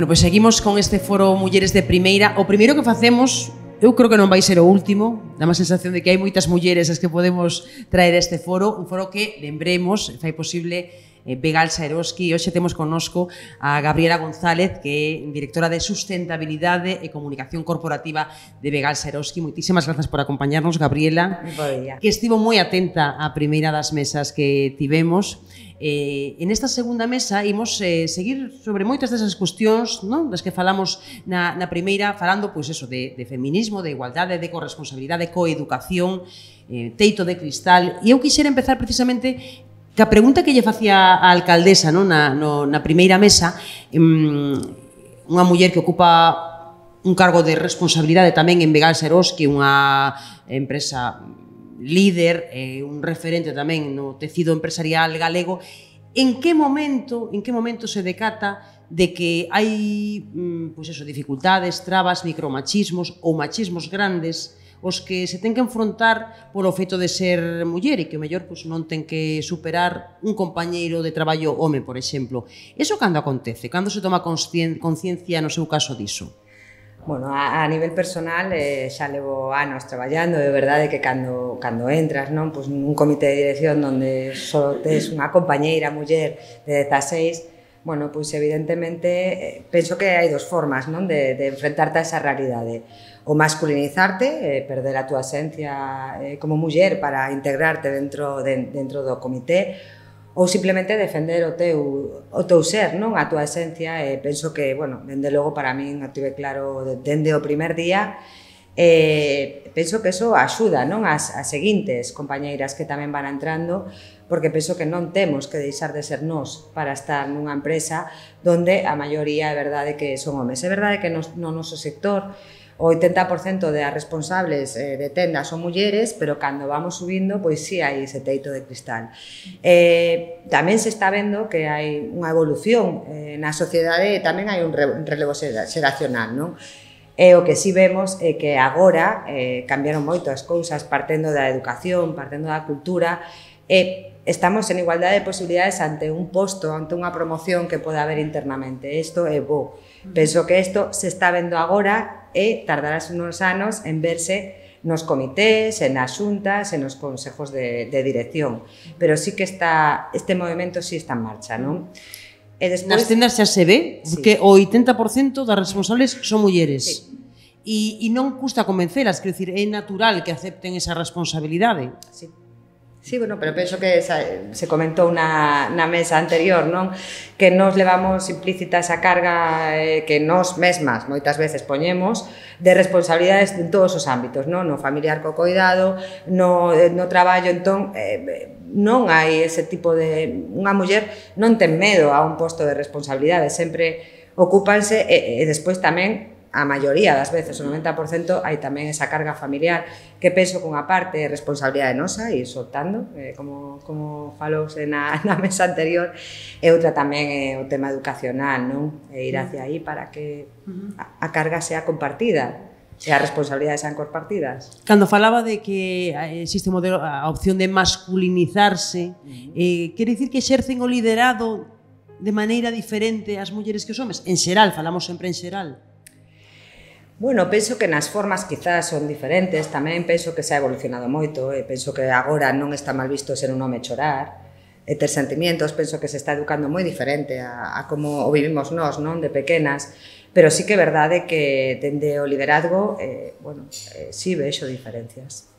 Bueno, pois seguimos con este foro Mulleres de Primeira. O primeiro que facemos, eu creo que non vai ser o último, dá má sensación de que hai moitas mulleres as que podemos traer a este foro, un foro que, lembremos, fai posible Begal Saeroski. Hoxe temos connosco a Gabriela González, que é directora de Sustentabilidade e Comunicación Corporativa de Begal Saeroski. Moitísimas grazas por acompañarnos, Gabriela, que estivo moi atenta á primeira das mesas que tivemos. En esta segunda mesa imos seguir sobre moitas desas cuestións, non? Das que falamos na primeira, falando pois eso, de feminismo, de igualdade, de corresponsabilidade, coeducación, teito de cristal. E eu quixera empezar precisamente que a pregunta que lle facía a alcaldesa, non? Na primeira mesa, unha muller que ocupa un cargo de responsabilidade tamén en Begal Saeroski, unha empresa líder, un referente tamén no tecido empresarial galego. En que momento se decata de que hai pois eso, dificultades, trabas, micromachismos ou machismos grandes os que se ten que enfrontar polo feito de ser muller e que o mellor pois, non ten que superar un compañeiro de traballo home, por exemplo? Eso cando acontece? Cando se toma conciencia no seu caso diso? Bueno, a nivel personal xa levo anos traballando, é verdade que cando entras, non, pois nun comité de dirección onde só tes unha compañeira muller de 16, bueno, pois evidentemente penso que hai dos formas, non, de enfrentarte a esa realidade. O masculinizarte, perder a túa esencia como muller para integrarte dentro do comité, ou simplemente defender o teu ser, non? A túa esencia. Penso que, bueno, dende logo para min o tive claro dende o primer día. Penso que eso axuda, non? As seguintes compañeiras que tamén van entrando, porque penso que non temos que deixar de ser nós para estar nunha empresa onde a maioría é verdade que son homes. É verdade que no noso sector o 80% das responsables de tendas son mulleres, pero cando vamos subindo, pois sí hai ese teito de cristal. Tamén se está vendo que hai unha evolución na sociedade e tamén hai un relevo xeracional, non? E o que sí vemos é que agora cambiaron moito as cousas partendo da educación, partendo da cultura, e estamos en igualdade de posibilidades ante un posto, ante unha promoción que pode haber internamente. Isto é bo. Penso que isto se está vendo agora e tardarás unos anos en verse nos comités, en as xuntas, en os consejos de dirección. Pero sí que este movimento sí está en marcha, non? Nas tendas xa se ve, porque o 80% das responsables son mulleres. E non custa convencelas, quero dicir, é natural que acepten esa responsabilidade. Sí. Sí, bueno, pero penso que se comentou na mesa anterior, non? Que nos levamos implícita esa carga que nós mesmas moitas veces poñemos de responsabilidades en todos os ámbitos, non? No familiar co coidado, no traballo, entón non hai ese tipo de... Unha muller non ten medo a un posto de responsabilidade, sempre ocúpanse e despois tamén a maioría das veces, o 90%, hai tamén esa carga familiar que penso que unha parte é responsabilidade nosa e soltando, como falouse na mesa anterior, e outra tamén é o tema educacional, non? E ir hacia aí para que a carga sea compartida e as responsabilidades sean compartidas. Cando falaba de que existe a opción de masculinizarse, quere dicir que exercen o liderado de maneira diferente as mulleres que os homes? En xeral, falamos sempre en xeral. Bueno, penso que nas formas quizás son diferentes, tamén penso que se ha evolucionado moito, e penso que agora non está mal visto ser un home chorar, e ter sentimentos, penso que se está educando moi diferente a como o vivimos nós, non, de pequenas, pero sí que é verdade que dende o liderazgo, bueno, sí vexo diferencias.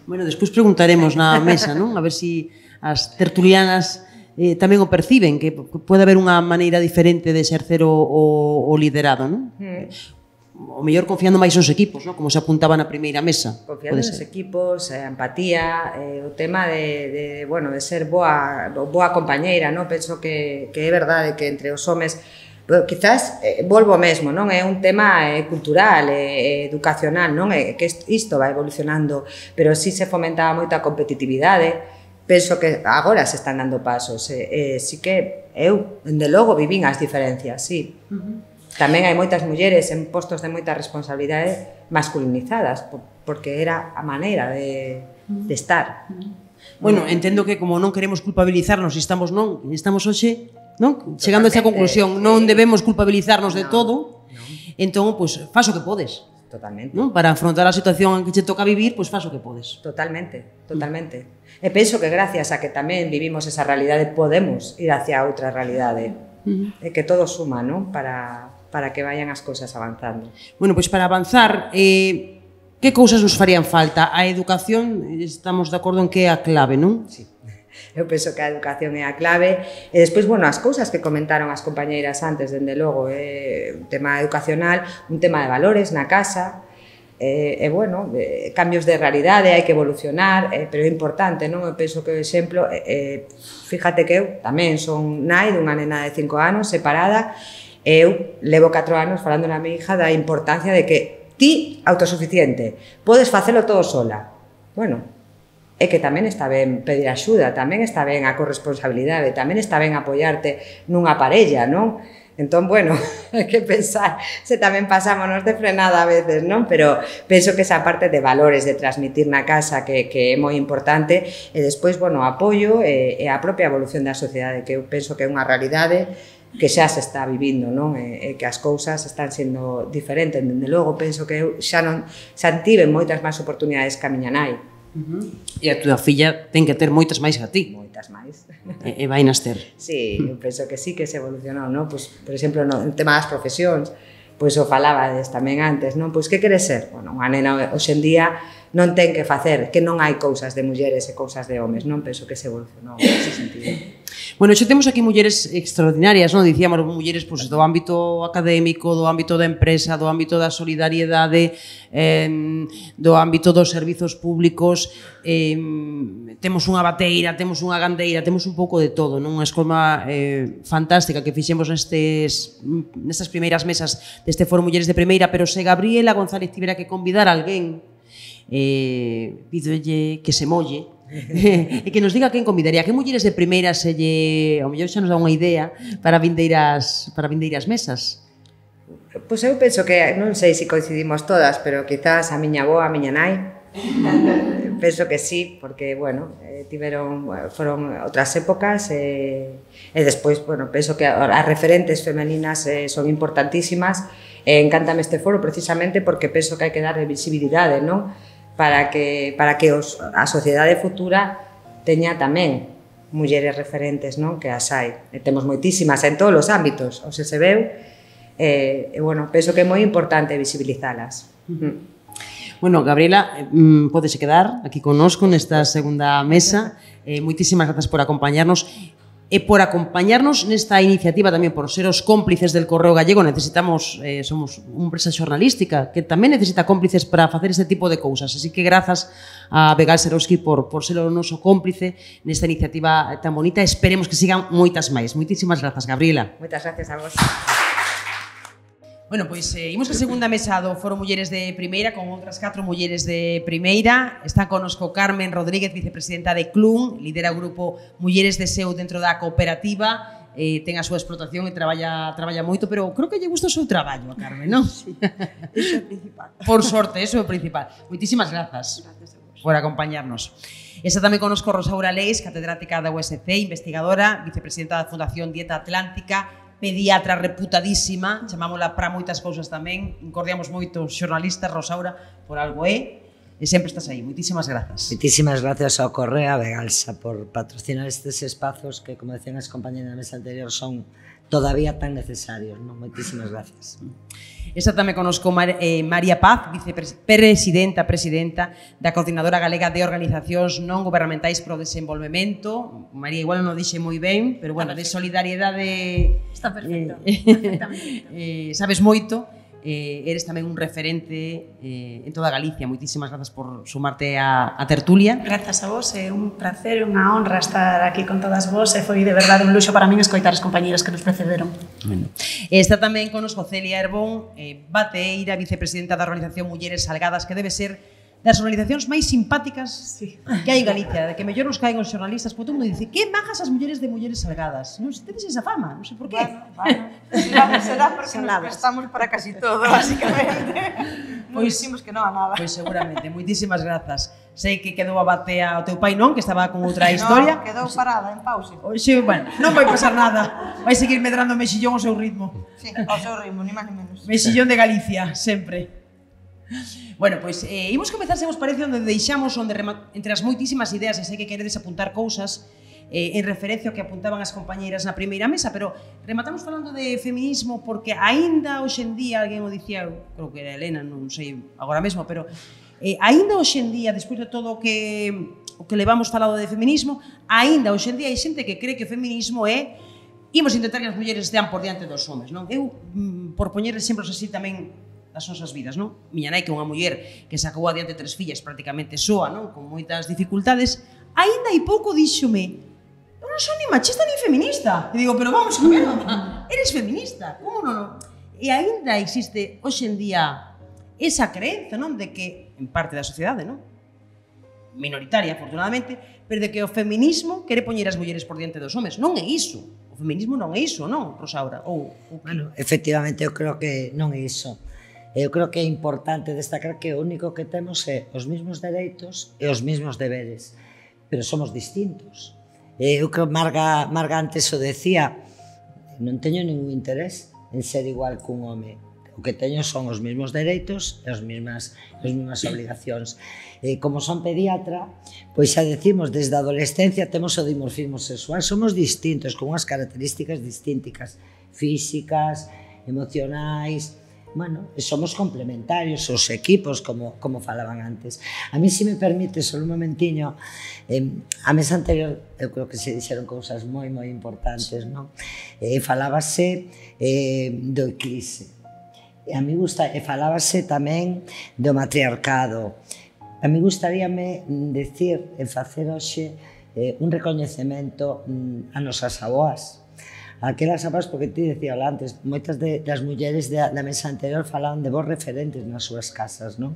Bueno, despois preguntaremos na mesa, non? A ver se as tertulianas tamén o perciben, que pode haber unha maneira diferente de exercer o liderado, non? O mellor confiando máis nos equipos, non? Como se apuntaba na primeira mesa. Confiando nos equipos, a empatía, o tema de ser boa compañeira, non? Penso que é verdade que entre os homes, quizás, volvo mesmo, non? É un tema cultural, educacional, non? Que isto vai evolucionando, pero sí se fomentaba moito a competitividade. Penso que agora se están dando pasos, sí que eu, dende logo, vivín as diferencias, sí. Tamén hai moitas mulleres en postos de moita responsabilidade masculinizadas, porque era a maneira de estar. Bueno, entendo que como non queremos culpabilizarnos, estamos hoxe, non? Chegando a esa conclusión, non debemos culpabilizarnos de todo, entón, pois, faz o que podes. Totalmente. Non? Para afrontar a situación en que che toca vivir, pois faz o que podes. Totalmente, totalmente. E penso que gracias a que tamén vivimos esa realidade podemos ir hacia outra realidade. E que todo suma, non? Para que vayan as cousas avanzando. Bueno, pois para avanzar, que cousas nos farían falta? A educación, estamos de acordo en que é a clave, non? Sí. Eu penso que a educación é a clave e despois, bueno, as cousas que comentaron as compañeiras antes, dende logo, un tema educacional, un tema de valores na casa, bueno, cambios de realidade, hai que evolucionar, pero é importante, non? Eu penso que o exemplo, fíjate que eu tamén son nai dunha nena de 5 anos, separada, e eu levo 4 anos falando na mi hija da importancia de que ti, autosuficiente, podes facelo todo sola. Bueno, é que tamén está ben pedir axuda, tamén está ben a corresponsabilidade, tamén está ben apoiarte nunha parella, non? Entón, bueno, hai que pensar se tamén pasámonos de frenada a veces, non? Pero penso que esa parte de valores, de transmitir na casa que é moi importante, e despois, bueno, apoio e a propia evolución da sociedade, que eu penso que é unha realidade que xa se está vivindo, non? E que as cousas están sendo diferentes. Dende logo, penso que eu xa tive moitas máis oportunidades que a miña nai. E a túa filla ten que ter moitas máis que a ti. Moitas máis. E vai nas ter. Sí, eu penso que sí que se evolucionou, non? Pois, por exemplo, no tema das profesións, pois o falabades tamén antes, non? Pois que queres ser? Bueno, unha nena hoxe en día non ten que facer, que non hai cousas de mulleres e cousas de homes, non? Penso que se evolucionou nese sentido. Bueno, xa temos aquí mulleres extraordinarias, non? Dicíamos, mulleres pois, do ámbito académico, do ámbito da empresa, do ámbito da solidariedade, do ámbito dos servizos públicos, temos unha bateira, temos unha gandeira, temos un pouco de todo, non? Unha escola fantástica que fixemos nestas primeiras mesas deste Foro Mulleres de Primeira, pero se Gabriela González tivera que convidar a alguén, pídolle que se molle e que nos diga quen convidaría, que mulleres de primeira se lle, ao mellor xa nos dá unha idea para vindeiras mesas. Pois eu penso que, non sei se coincidimos todas, pero quizás a miña avó, a miña nai, penso que sí, porque, bueno, foron outras épocas e despois, bueno, penso que as referentes femeninas son importantísimas e encántame este foro precisamente porque penso que hai que dar visibilidade, non? Para que a sociedade futura teña tamén mulleres referentes, non? Que as hai. E temos moitísimas en todos os ámbitos, o se veu, e, bueno, penso que é moi importante visibilizalas. Bueno, Gabriela, pódese quedar aquí connosco nesta segunda mesa. Moitísimas grazas por acompañarnos e por acompañarnos nesta iniciativa tamén por ser os cómplices del Correo Gallego. Necesitamos, somos unha empresa xornalística que tamén necesita cómplices para facer este tipo de cousas, así que grazas a Begal Serowski por ser o noso cómplice nesta iniciativa tan bonita. Esperemos que sigan moitas máis. Moitísimas grazas, Gabriela. Moitas gracias a vos. Bueno, pois imos a segunda mesa do Foro Mulleres de Primeira con outras 4 mulleres de Primeira. Está conosco Carmen Rodríguez, vicepresidenta de CLUN, lidera o grupo Mulleres de SEU dentro da cooperativa, ten a súa explotación e traballa moito, pero creo que lle gusta o seu traballo a Carmen, non? Sí, iso é o principal. Por sorte, iso é o principal. Moitísimas grazas por acompañarnos. Está tamén conosco Rosaura Leis, catedrática da USC, investigadora, vicepresidenta da Fundación Dieta Atlántica, pediatra reputadísima, chamámola para moitas cousas tamén, encordiamos moito xornalistas, Rosaura, por algo e sempre estás aí. Moitísimas grazas. Moitísimas gracias ao Correo a Begalsa por patrocinar estes espazos que, como decían as compañeras na mesa anterior, son todavía tan necesarios, non? Moitísimas gracias. Está tamén conosco María Paz, vicepresidenta da Coordinadora Galega de Organizacións Non Gubernamentais pro Desenvolvemento. María igual non o dixe moi ben, pero bueno, de solidariedade está perfecto, perfectamente. Sabes moito. Eres tamén un referente en toda Galicia. Moitísimas grazas por sumarte a tertulia. Grazas a vos, é un placer, unha honra estar aquí con todas vos e foi de verdade un luxo para min escoitar as compañeras que nos precederon. Bueno. Está tamén conosco Celia Herbón, bateeira, vicepresidenta da Organización Mulleres Salgadas, que debe ser das organizacións máis simpáticas que hai en Galicia, de que mellor nos caen os xornalistas, porque todo mundo dice, que majas as mulleres de Mulleres Salgadas. Non sei, tedes esa fama, non sei por qué. Bueno, será porque nos prestamos para casi todo, básicamente. Non dicimos que non a nada. Pois seguramente, moitísimas grazas. Sei que quedou a batea o teu pai, non? Que estaba con outra historia. Non, quedou parada en pause. Oxe, bueno, non vai pasar nada. Vai seguir medrando mexillón ao seu ritmo. Sí, ao seu ritmo, ni máis ni menos. Mexillón de Galicia, sempre. Bueno, pois imos comezar, se vos parece, onde deixamos, entre as moitísimas ideas, e sei que queredes apuntar cousas, en referencia ao que apuntaban as compañeiras na primeira mesa, pero rematamos falando de feminismo porque aínda hoxe en día, alguén o dicía, creo que era Elena, non sei agora mesmo, pero aínda hoxe en día, despois de todo o que levamos falado de feminismo, aínda hoxe en día hai xente que cree que o feminismo é imos intentar que as mulleres estean por diante dos homes, non? Eu, por poñer exemplos así tamén das nosas vidas, non? Miña nai, que é unha muller que sacou adiante 3 fillas praticamente soa, non? Con moitas dificultades, aínda hai pouco díxome: eu non son ni machista ni feminista. E digo, pero vamos a ver, mamá, eres feminista, como non? E aínda existe hoxe en día esa creenza, non? De que, en parte da sociedade, non? Minoritaria, afortunadamente, pero de que o feminismo quere poñer as mulleres por diante dos homes. Non é iso. O feminismo non é iso, non, Rosaura? Bueno, efectivamente, eu creo que non é iso. Eu creo que é importante destacar que o único que temos é os mesmos dereitos e os mesmos deberes, pero somos distintos. Eu creo que Marga antes o decía, non teño ningún interés en ser igual cun home. O que teño son os mesmos dereitos e as mesmas obligacións. Como son pediatra, pois xa decimos, desde a adolescencia temos o dimorfismo sexual, somos distintos, con unhas características distintas, físicas, emocionais. Bueno, somos complementarios, os equipos, como falaban antes. A mí, se me permite, só un momentiño, a mesa anterior, eu creo que se dixeron cousas moi importantes, non? Falábase do eclipse. A mí falábase tamén do matriarcado. A mí gustaríame decir, facer hoxe un recoñecemento a nosas aboas. Aquelas aboas, porque ti decía antes, moitas das mulleres da mesa anterior falaban de vos referentes nas súas casas, non?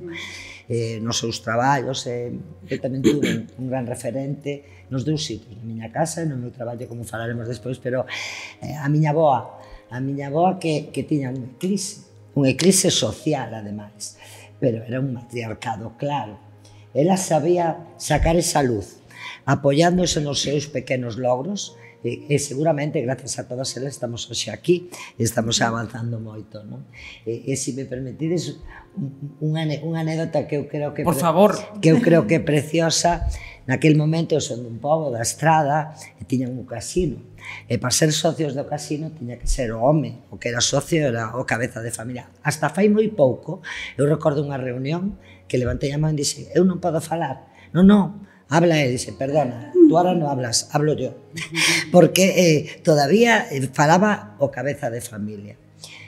Nos seus traballos, eu tamén tuve un gran referente nos dous sitios, na miña casa e no meu traballo, como falaremos despois, pero a miña aboa que tiña un eclipse social, ademais, pero era un matriarcado claro. Ela sabía sacar esa luz, apoiándose nos seus pequenos logros, e seguramente, gracias a todas elas, estamos hoxe aquí e estamos avanzando moito, non? E se me permitides unha anécdota que eu creo que por favor, que eu creo que é preciosa. Naquel momento eu son dun pobo da Estrada e tiñan un casino, e para ser socios do casino tiña que ser o home, o que era socio era o cabeza de familia. Hasta fai moi pouco eu recordo unha reunión que levantei a man e dixe: eu non podo falar. Non, habla él, dice, perdona, tú ahora no hablas, hablo yo. Porque todavía falaba o cabeza de familia.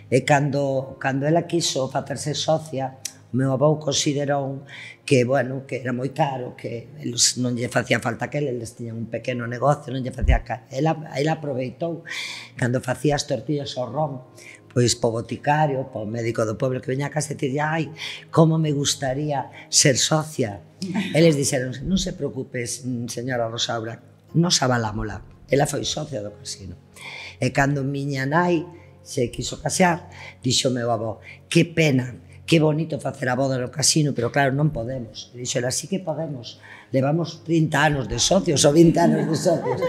E cando ela quiso facerse socia, o meu avó considerou que, bueno, que era moi caro, que eles non lle facía falta que eles tiñan un pequeno negocio, non lle facía caro. Ela aproveitou, cando facía as tortillas ao ron, pois po boticario, po médico do pueblo que veña a casa e dicir, ai, como me gustaría ser socia. Eles dixeron, non se preocupes, señora Rosaura, nos avalámola. Ela foi socia do casino. E cando miña nai se quiso casar, dixo o meu avó, que pena, que bonito facer a boda no casino, pero claro, non podemos. E dixo, así que podemos. Levamos 30 anos de socios ou 20 anos de socios.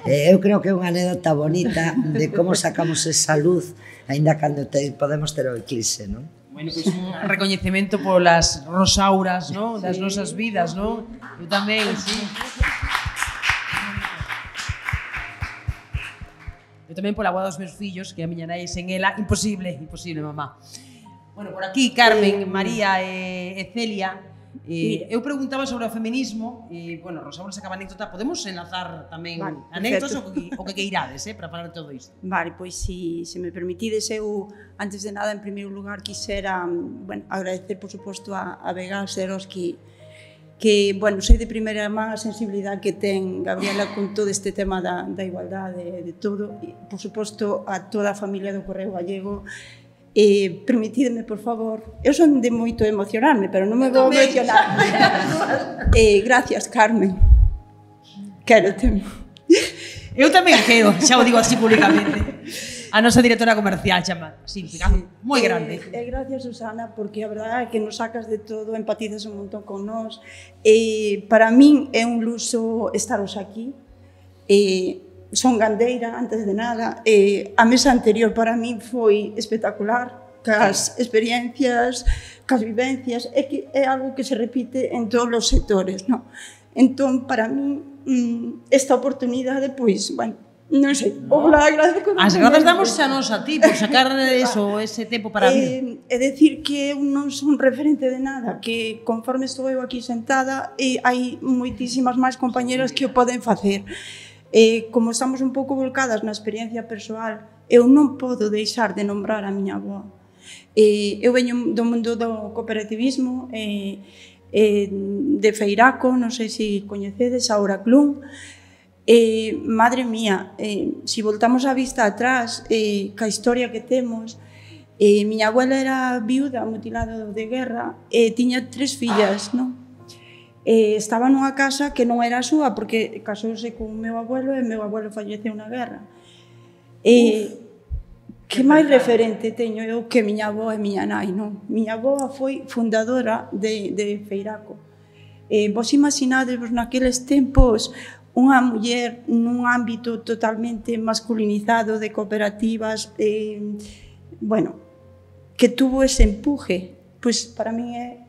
Eu creo que é unha anécdota bonita de como sacamos esa luz aínda cando podemos ter o eclipse, non? Bueno, pois un recoñecemento polas Rosauras, non? Das nosas vidas, non? Eu tamén, sí. Eu tamén pola boda dos meus fillos, que a miña nai sen ela, imposible, mamá. Bueno, por aquí, Carmen, María e Celia, eu preguntaba sobre o feminismo, e, bueno, Rosaura sacaba anécdota, podemos enlazar tamén anécdotas o que queirades, para falar de todo isto? Vale, pois se me permitides, eu, antes de nada, en primeiro lugar, quixera, agradecer, por suposto, a Vega Seroski, que, bueno, sei de primeira man a sensibilidade que ten Gabriela con todo este tema da igualdade, de todo, e, por suposto, a toda a familia do Correo Gallego. Permitidme, por favor, eu son de moito emocionarme, pero non me vou emocionar. Gracias, Carmen. Quérote. Eu tamén quero, xa o digo así públicamente. A nosa directora comercial chama, así, moi grande. Gracias, Susana, porque a verdade é que nos sacas de todo, empatizas un montón con nós. Para min é un luxo estaros aquí. Son gandeira, antes de nada. A mesa anterior para min foi espectacular, cas experiencias, cas vivencias, é que é algo que se repite en todos os sectores, non? Entón, para min, esta oportunidade, pois, bueno, non sei, ojalá agradezco. As grazas damos xa nos a ti por sacar eso, ese tempo para mí. É decir que eu non son referente de nada, que conforme estou eu aquí sentada, hai moitísimas máis compañeras que o poden facer. Como estamos un pouco volcadas na experiencia persoal, eu non podo deixar de nombrar a miña avó. Eu veño do mundo do cooperativismo, de Feiraco, non sei se coñecedes, a Oraclún. Madre mía, se voltamos a vista atrás, ca historia que temos, miña abuela era viuda, mutilada de guerra, tiña 3 fillas, non? Estaba nunha casa que non era a súa, porque casouse con o meu abuelo e o meu abuelo falleceu na guerra. Que máis referente teño eu que miña avó e miña nai, non? Miña avó foi fundadora de Feiraco. Vos imaginadevos naqueles tempos unha muller nun ámbito totalmente masculinizado de cooperativas, bueno, que tuvo ese empuje, pois para mí é,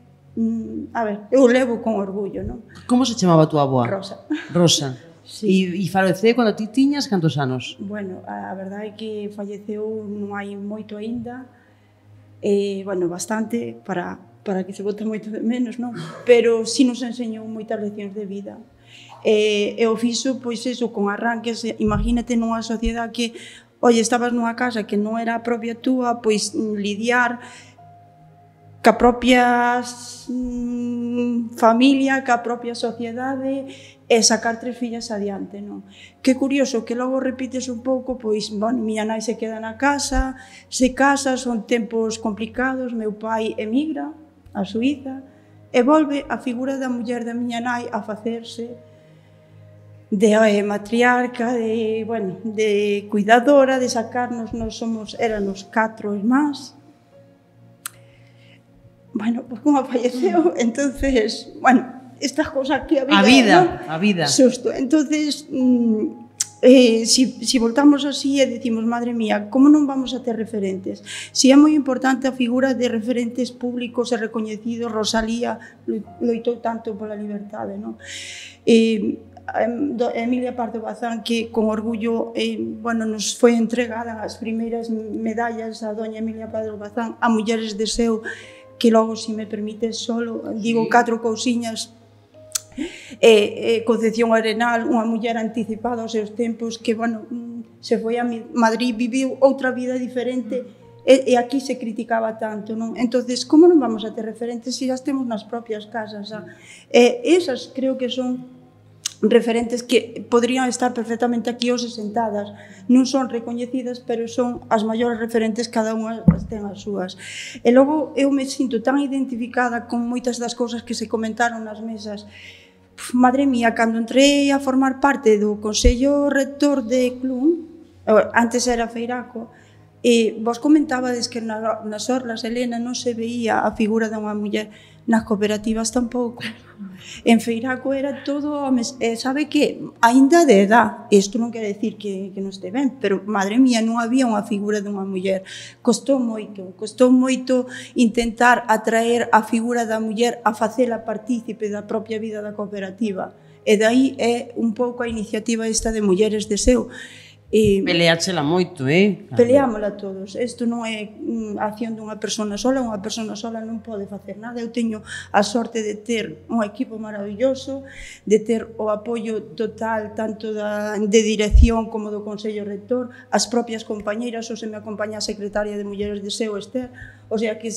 a ver, eu levo con orgullo, non? Como se chamaba a tua avoa? Rosa. Rosa. Sí. E faleceu cando ti tiñas cantos anos? Bueno, a verdade é que falleceu non hai moito aínda, bueno, bastante, para que se bote moito de menos, non? Pero si nos enseñou moitas leccións de vida. E o fixo, pois eso, con arranques, imagínate nunha sociedade que, oye, estabas nunha casa que non era a propia túa, pois lidiar ca propia familia, ca propia sociedade e sacar 3 fillas adiante, non? Que curioso que logo repites un pouco, pois, bueno, miña nai se queda na casa, se casa, son tempos complicados, meu pai emigra a Suíza e volve a figura da muller da miña nai a facerse de matriarca, de, bueno, de cuidadora, de sacarnos, éramos 4 irmáns. Bueno, pues como falleceu, entonces, bueno, estas cosas que a vida, ¿no? A vida. Susto. Entonces, si voltamos así e decimos, madre mía, como non vamos a ter referentes? Si é moi importante a figura de referentes públicos e recoñecidos, Rosalía loitou tanto pola liberdade, non? Emilia Pardo Bazán, que con orgullo bueno, nos foi entregada as primeiras medallas a doña Emilia Pardo Bazán a mulleres de Seu, que logo, se me permites, solo digo 4 cousiñas. Concepción Arenal, unha muller anticipada aos seus tempos, que, bueno, se foi a Madrid, viviu outra vida diferente, e aquí se criticaba tanto, non? Entonces, como non vamos a ter referentes se as temos nas propias casas? Esas creo que son referentes que podrían estar perfectamente aquí hoxe sentadas. Non son recoñecidas, pero son as maiores referentes, cada unha ten as súas. E logo eu me sinto tan identificada con moitas das cousas que se comentaron nas mesas. Madre mía, cando entrei a formar parte do Consello Rector de Clun, antes era Feiraco, vos comentabades que nas orlas, Helena, non se veía a figura dunha muller, nas cooperativas tampouco. En Feiraco era todo homes, sabe que, aínda de edad, isto non quere decir que non este ben, pero, madre mía, non había unha figura dunha muller. Costou moito intentar atraer a figura da muller a facela partícipe da propia vida da cooperativa. E dai é un pouco a iniciativa esta de Mulleres de Seu. Peleáchela moito, Peleámola todos. Isto non é a acción dunha persona sola non pode facer nada. Eu teño a sorte de ter un equipo maravilloso, de ter o apoio total tanto de dirección como do Consello Rector, as propias compañeiras, ou se me acompaña a secretaria de Mulleres de Seu, Esther, o sea que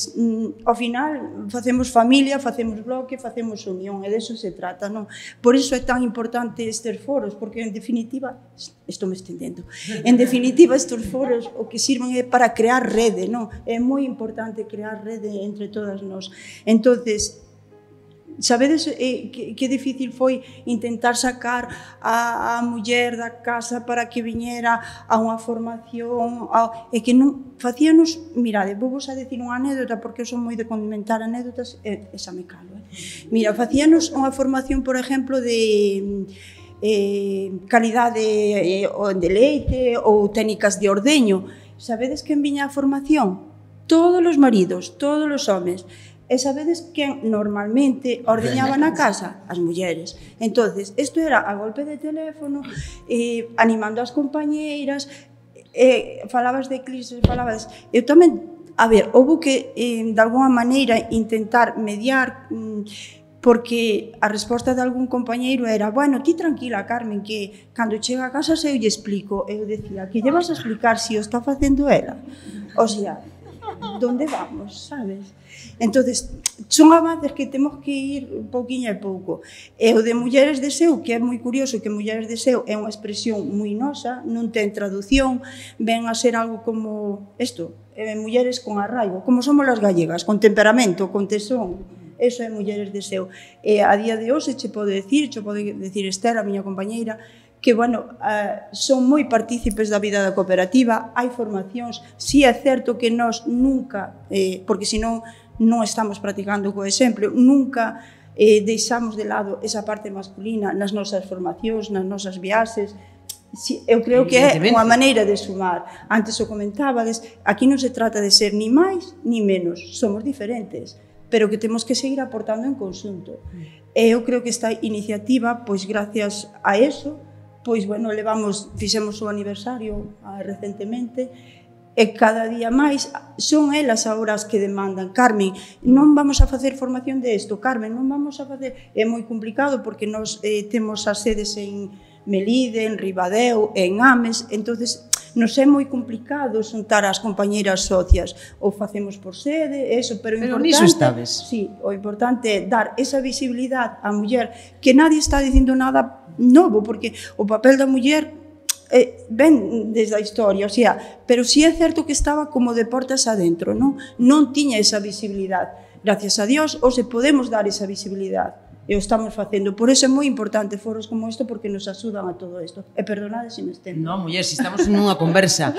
ao final facemos familia, facemos bloque, facemos unión, e deso se trata, non? Por iso é tan importante estes foros, porque en definitiva, estou me estendendo, en definitiva estes foros o que sirven é para crear rede, non? É moi importante crear rede entre todas nós. Entonces, Sabedes que difícil foi intentar sacar a muller da casa para que viñera a unha formación, e que non facíanos, mirade, vou vos a decir unha anécdota porque eu son moi de condimentar anécdotas e xa me calo. Mira, facíanos unha formación, por exemplo, de calidade de leite ou técnicas de ordeño. Sabedes quen viña a formación? Todos os maridos, todos os homes. E sabedes quen normalmente ordeñaba na casa? As mulleres. Entonces, isto era a golpe de teléfono, animando as compañeiras, falabas de crisis, falabas... Eu tamén, a ver, houve que, de alguma maneira, intentar mediar, porque a resposta de algún compañeiro era: bueno, ti tranquila, Carmen, que cando chega a casa eu lle explico. Eu decía: que lle vas a explicar se o está facendo ela? O sea, donde vamos, sabes? Entonces, son avances que temos que ir pouquiño a pouco. E o de Mulleres de Seu, que é moi curioso, que Mulleres de Seu é unha expresión moi nosa, non ten traducción, ven a ser algo como isto, mulleres con arraigo, como somos as gallegas, con temperamento, con tesón. Eso é Mulleres de Seu. E a día de hoxe che pode decir Esther, a miña compañeira, que, bueno, son moi partícipes da vida da cooperativa, hai formacións, si é certo que nós nunca, porque senón non estamos practicando co exemplo, nunca deixamos de lado esa parte masculina nas nosas formacións, nas nosas viaxes. Eu creo que é unha maneira de sumar. Antes o comentabades, aquí non se trata de ser ni máis ni menos, somos diferentes, pero que temos que seguir aportando en conxunto. E eu creo que esta iniciativa, pois gracias a eso, pois, bueno, fixemos o aniversario recentemente, e cada día máis son elas agora as que demandan: Carmen, non vamos a facer formación de isto, Carmen, non vamos a facer... É moi complicado porque nós temos as sedes en Melide, en Ribadeo, en Ames, entonces nos é moi complicado xuntar as compañeiras socias, ou facemos por sede, eso, pero niso estabes. Sí, o importante é dar esa visibilidade á muller, que nadie está dicindo nada novo, porque o papel da muller ven desde a historia, o sea, pero si é certo que estaba como de portas adentro, non tiña esa visibilidade. Gracias a Dios, hoxe podemos dar esa visibilidade, e o estamos facendo. Por eso é moi importante foros como isto, porque nos axudan a todo isto. E perdonade se me estendo. Non, muller, se estamos nunha conversa.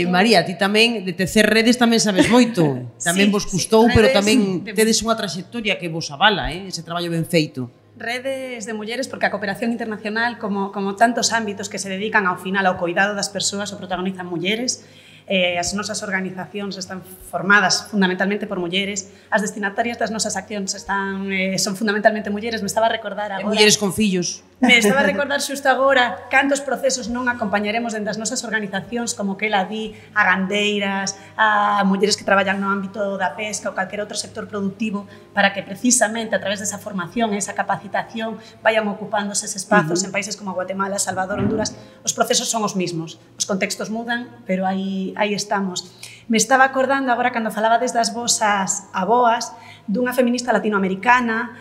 María, ti tamén, de tecer redes tamén sabes moito. Tamén vos custou, pero tamén tedes unha traxectoria que vos avala, ese traballo ben feito. Redes de mulleres, porque a cooperación internacional, como tantos ámbitos que se dedican ao final ao cuidado das persoas, o protagonizan mulleres. As nosas organizacións están formadas fundamentalmente por mulleres, as destinatarias das nosas accións son fundamentalmente mulleres. Me estaba a recordar agora... mulleres con fillos. Me estaba a recordar xusto agora cantos procesos non acompañaremos dentro das nosas organizacións, como que ela di, a gandeiras, a mulleres que traballan no ámbito da pesca ou calquer outro sector productivo, para que precisamente a través desa formación e esa capacitación vayan ocupándose eses espazos en países como Guatemala, Salvador, Honduras. Os procesos son os mismos, os contextos mudan, pero aí estamos. Me estaba acordando agora cando falabades das vosas aboas, dunha feminista latinoamericana,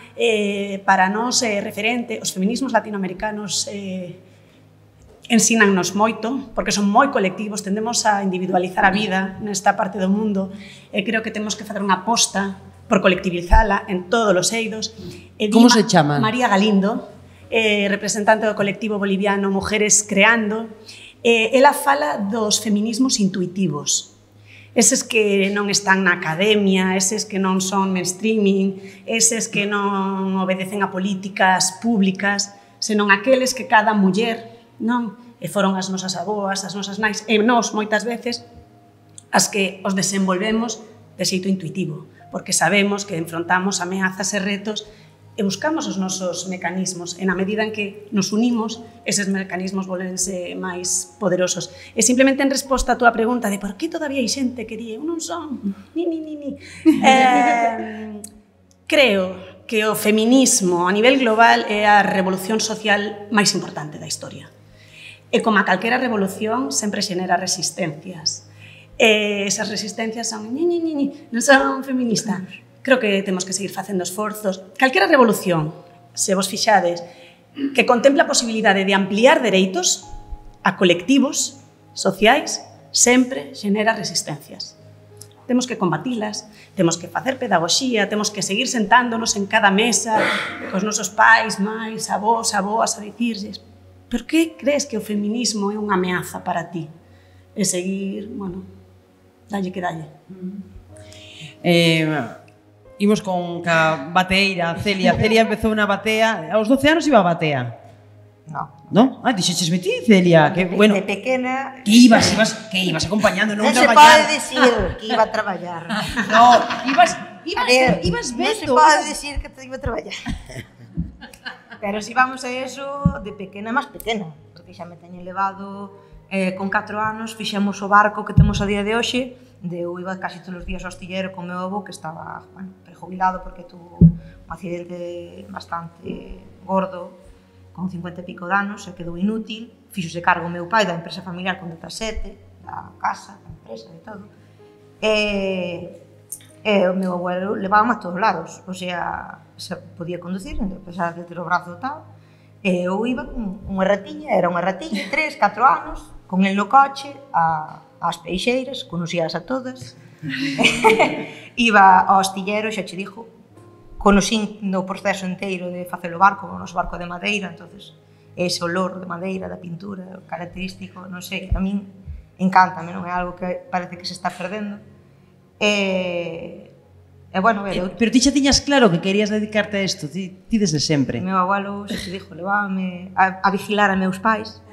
para nós referente. Os feminismos latinoamericanos ensínannos moito, porque son moi colectivos, tendemos a individualizar a vida nesta parte do mundo, e creo que temos que facer unha aposta por colectivizala en todos os eidos. Como se chama? María Galindo, representante do colectivo boliviano Mujeres Creando. Ela fala dos feminismos intuitivos, eses que non están na academia, eses que non son mainstreaming, eses que non obedecen a políticas públicas, senón aqueles que cada muller, non? E foron as nosas aboas, as nosas nais, e nós, moitas veces, as que os desenvolvemos de xeito intuitivo, porque sabemos que enfrontamos ameazas e retos e buscamos os nosos mecanismos, e na medida en que nos unimos, eses mecanismos volvense máis poderosos. E simplemente en resposta a túa pregunta de por que todavía hai xente que di eu non son, creo que o feminismo a nivel global é a revolución social máis importante da historia. E como a calquera revolución, sempre xenera resistencias. E esas resistencias son non son feministas. Creo que temos que seguir facendo esforzos. Calquera revolución, se vos fixades, que contempla a posibilidade de ampliar dereitos a colectivos sociais, sempre xenera resistencias. temos que combatilas, temos que facer pedagogía, temos que seguir sentándonos en cada mesa cos nosos pais, máis, avós, aboas, a dicirlles: por que crees que o feminismo é unha ameaza para ti? E seguir, bueno, dalle que dalle. Imos con ca bateeira, Celia. Celia empezou na batea, aos 12 anos iba a batea. No. Ah, dixeches ti, Celia, que bueno. De pequena... Que ibas acompañando, non Non se traballar. pode dicir que iba a traballar. No, ibas Non se vendo. pode dicir que te iba a traballar. Pero si vamos a eso, de pequena, máis pequena, porque xa me teñen levado con 4 anos, fixemos o barco que temos a día de hoxe, eu iba casi todos os días ao astillero con meu avó, que estaba, bueno, prejubilado porque tuvo un accidente bastante gordo, con 50 e pico de anos, e quedou inútil, fixose cargo o meu pai da empresa familiar con 17, da casa, da empresa, de todo, e o meu abuelo levábame a todos lados, o sea, se podía conducir, a pesar de ter o brazo tal, e eu iba con unha ratiña, era unha ratiña, 3, 4 anos, con el no coche, ás peixeiras, conocías a todas, iba ao astillero, xa che dixo, conocín no proceso inteiro de facer o barco, o noso barco de madeira, entonces ese olor de madeira, da pintura, característico, non sei, a min encántame, non é algo que parece que se está perdendo. E bueno, Pero ti xa tiñas claro que querías dedicarte a isto, ti desde sempre. Meu abuelo, xa te dixo, levábame a vigilar a meus pais.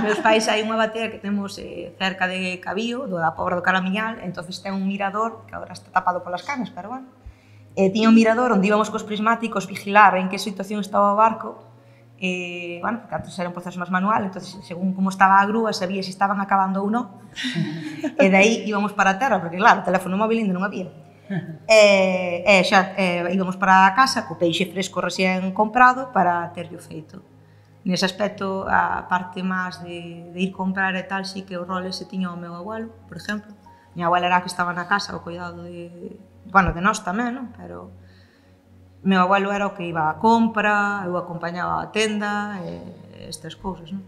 Meus pais hai unha batea que temos cerca de Cabío, da Pobra do Caramiñal, entonces ten un mirador, que agora está tapado polas canas, pero bueno, tiña un mirador onde íbamos cos prismáticos vigilar en que situación estaba o barco, bueno, porque antes era un proceso máis manual, entonces según como estaba a grúa sabía se estaban acabando ou non, e de aí íbamos para a terra, porque claro, o teléfono móvil ainda non había, xa íbamos para a casa co peixe fresco recién comprado para terlo feito. Nese aspecto, a parte máis de ir comprar e tal, sí que o rol ese tiña o meu abuelo, por exemplo. Minha abuela era a que estaba na casa, o cuidado de nós tamén, non? Pero meu abuelo era o que iba á compra, eu acompañaba á tenda, estas cousas, non?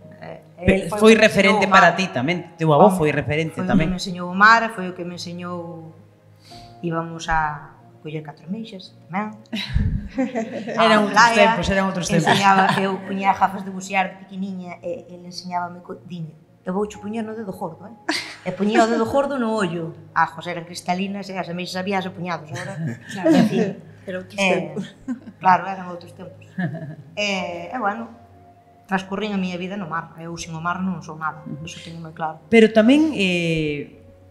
Foi referente para ti tamén, teu avó foi referente tamén. Foi o que me enseñou o mar, foi o que me enseñou, íbamos a coller 4 meixas tamén. Eran outros tempos. Eu puñía gafas de bucear de pequeniña e ele enseñábame, diñe, eu vou che puñer no dedo gordo, e puñía o dedo gordo no ollo. José, eran cristalinas e as meixas habías apuñados, agora, en fin. Era outros tempos. Claro, eran outros tempos. E, bueno, transcurrín a miña vida no mar. Eu sin o mar non sou nada, iso teño moi claro. Pero tamén,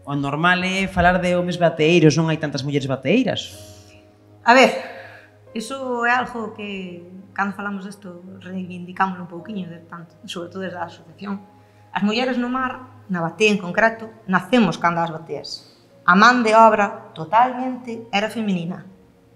o normal é falar de homes bateeiros, non hai tantas mulleres bateeiras. A ver, iso é algo que, cando falamos desto, reivindicámoslo un pouquiño, sobre todo desde a asociación. As mulleres no mar, na batea en concreto, nacemos cando as bateas. A man de obra totalmente era feminina,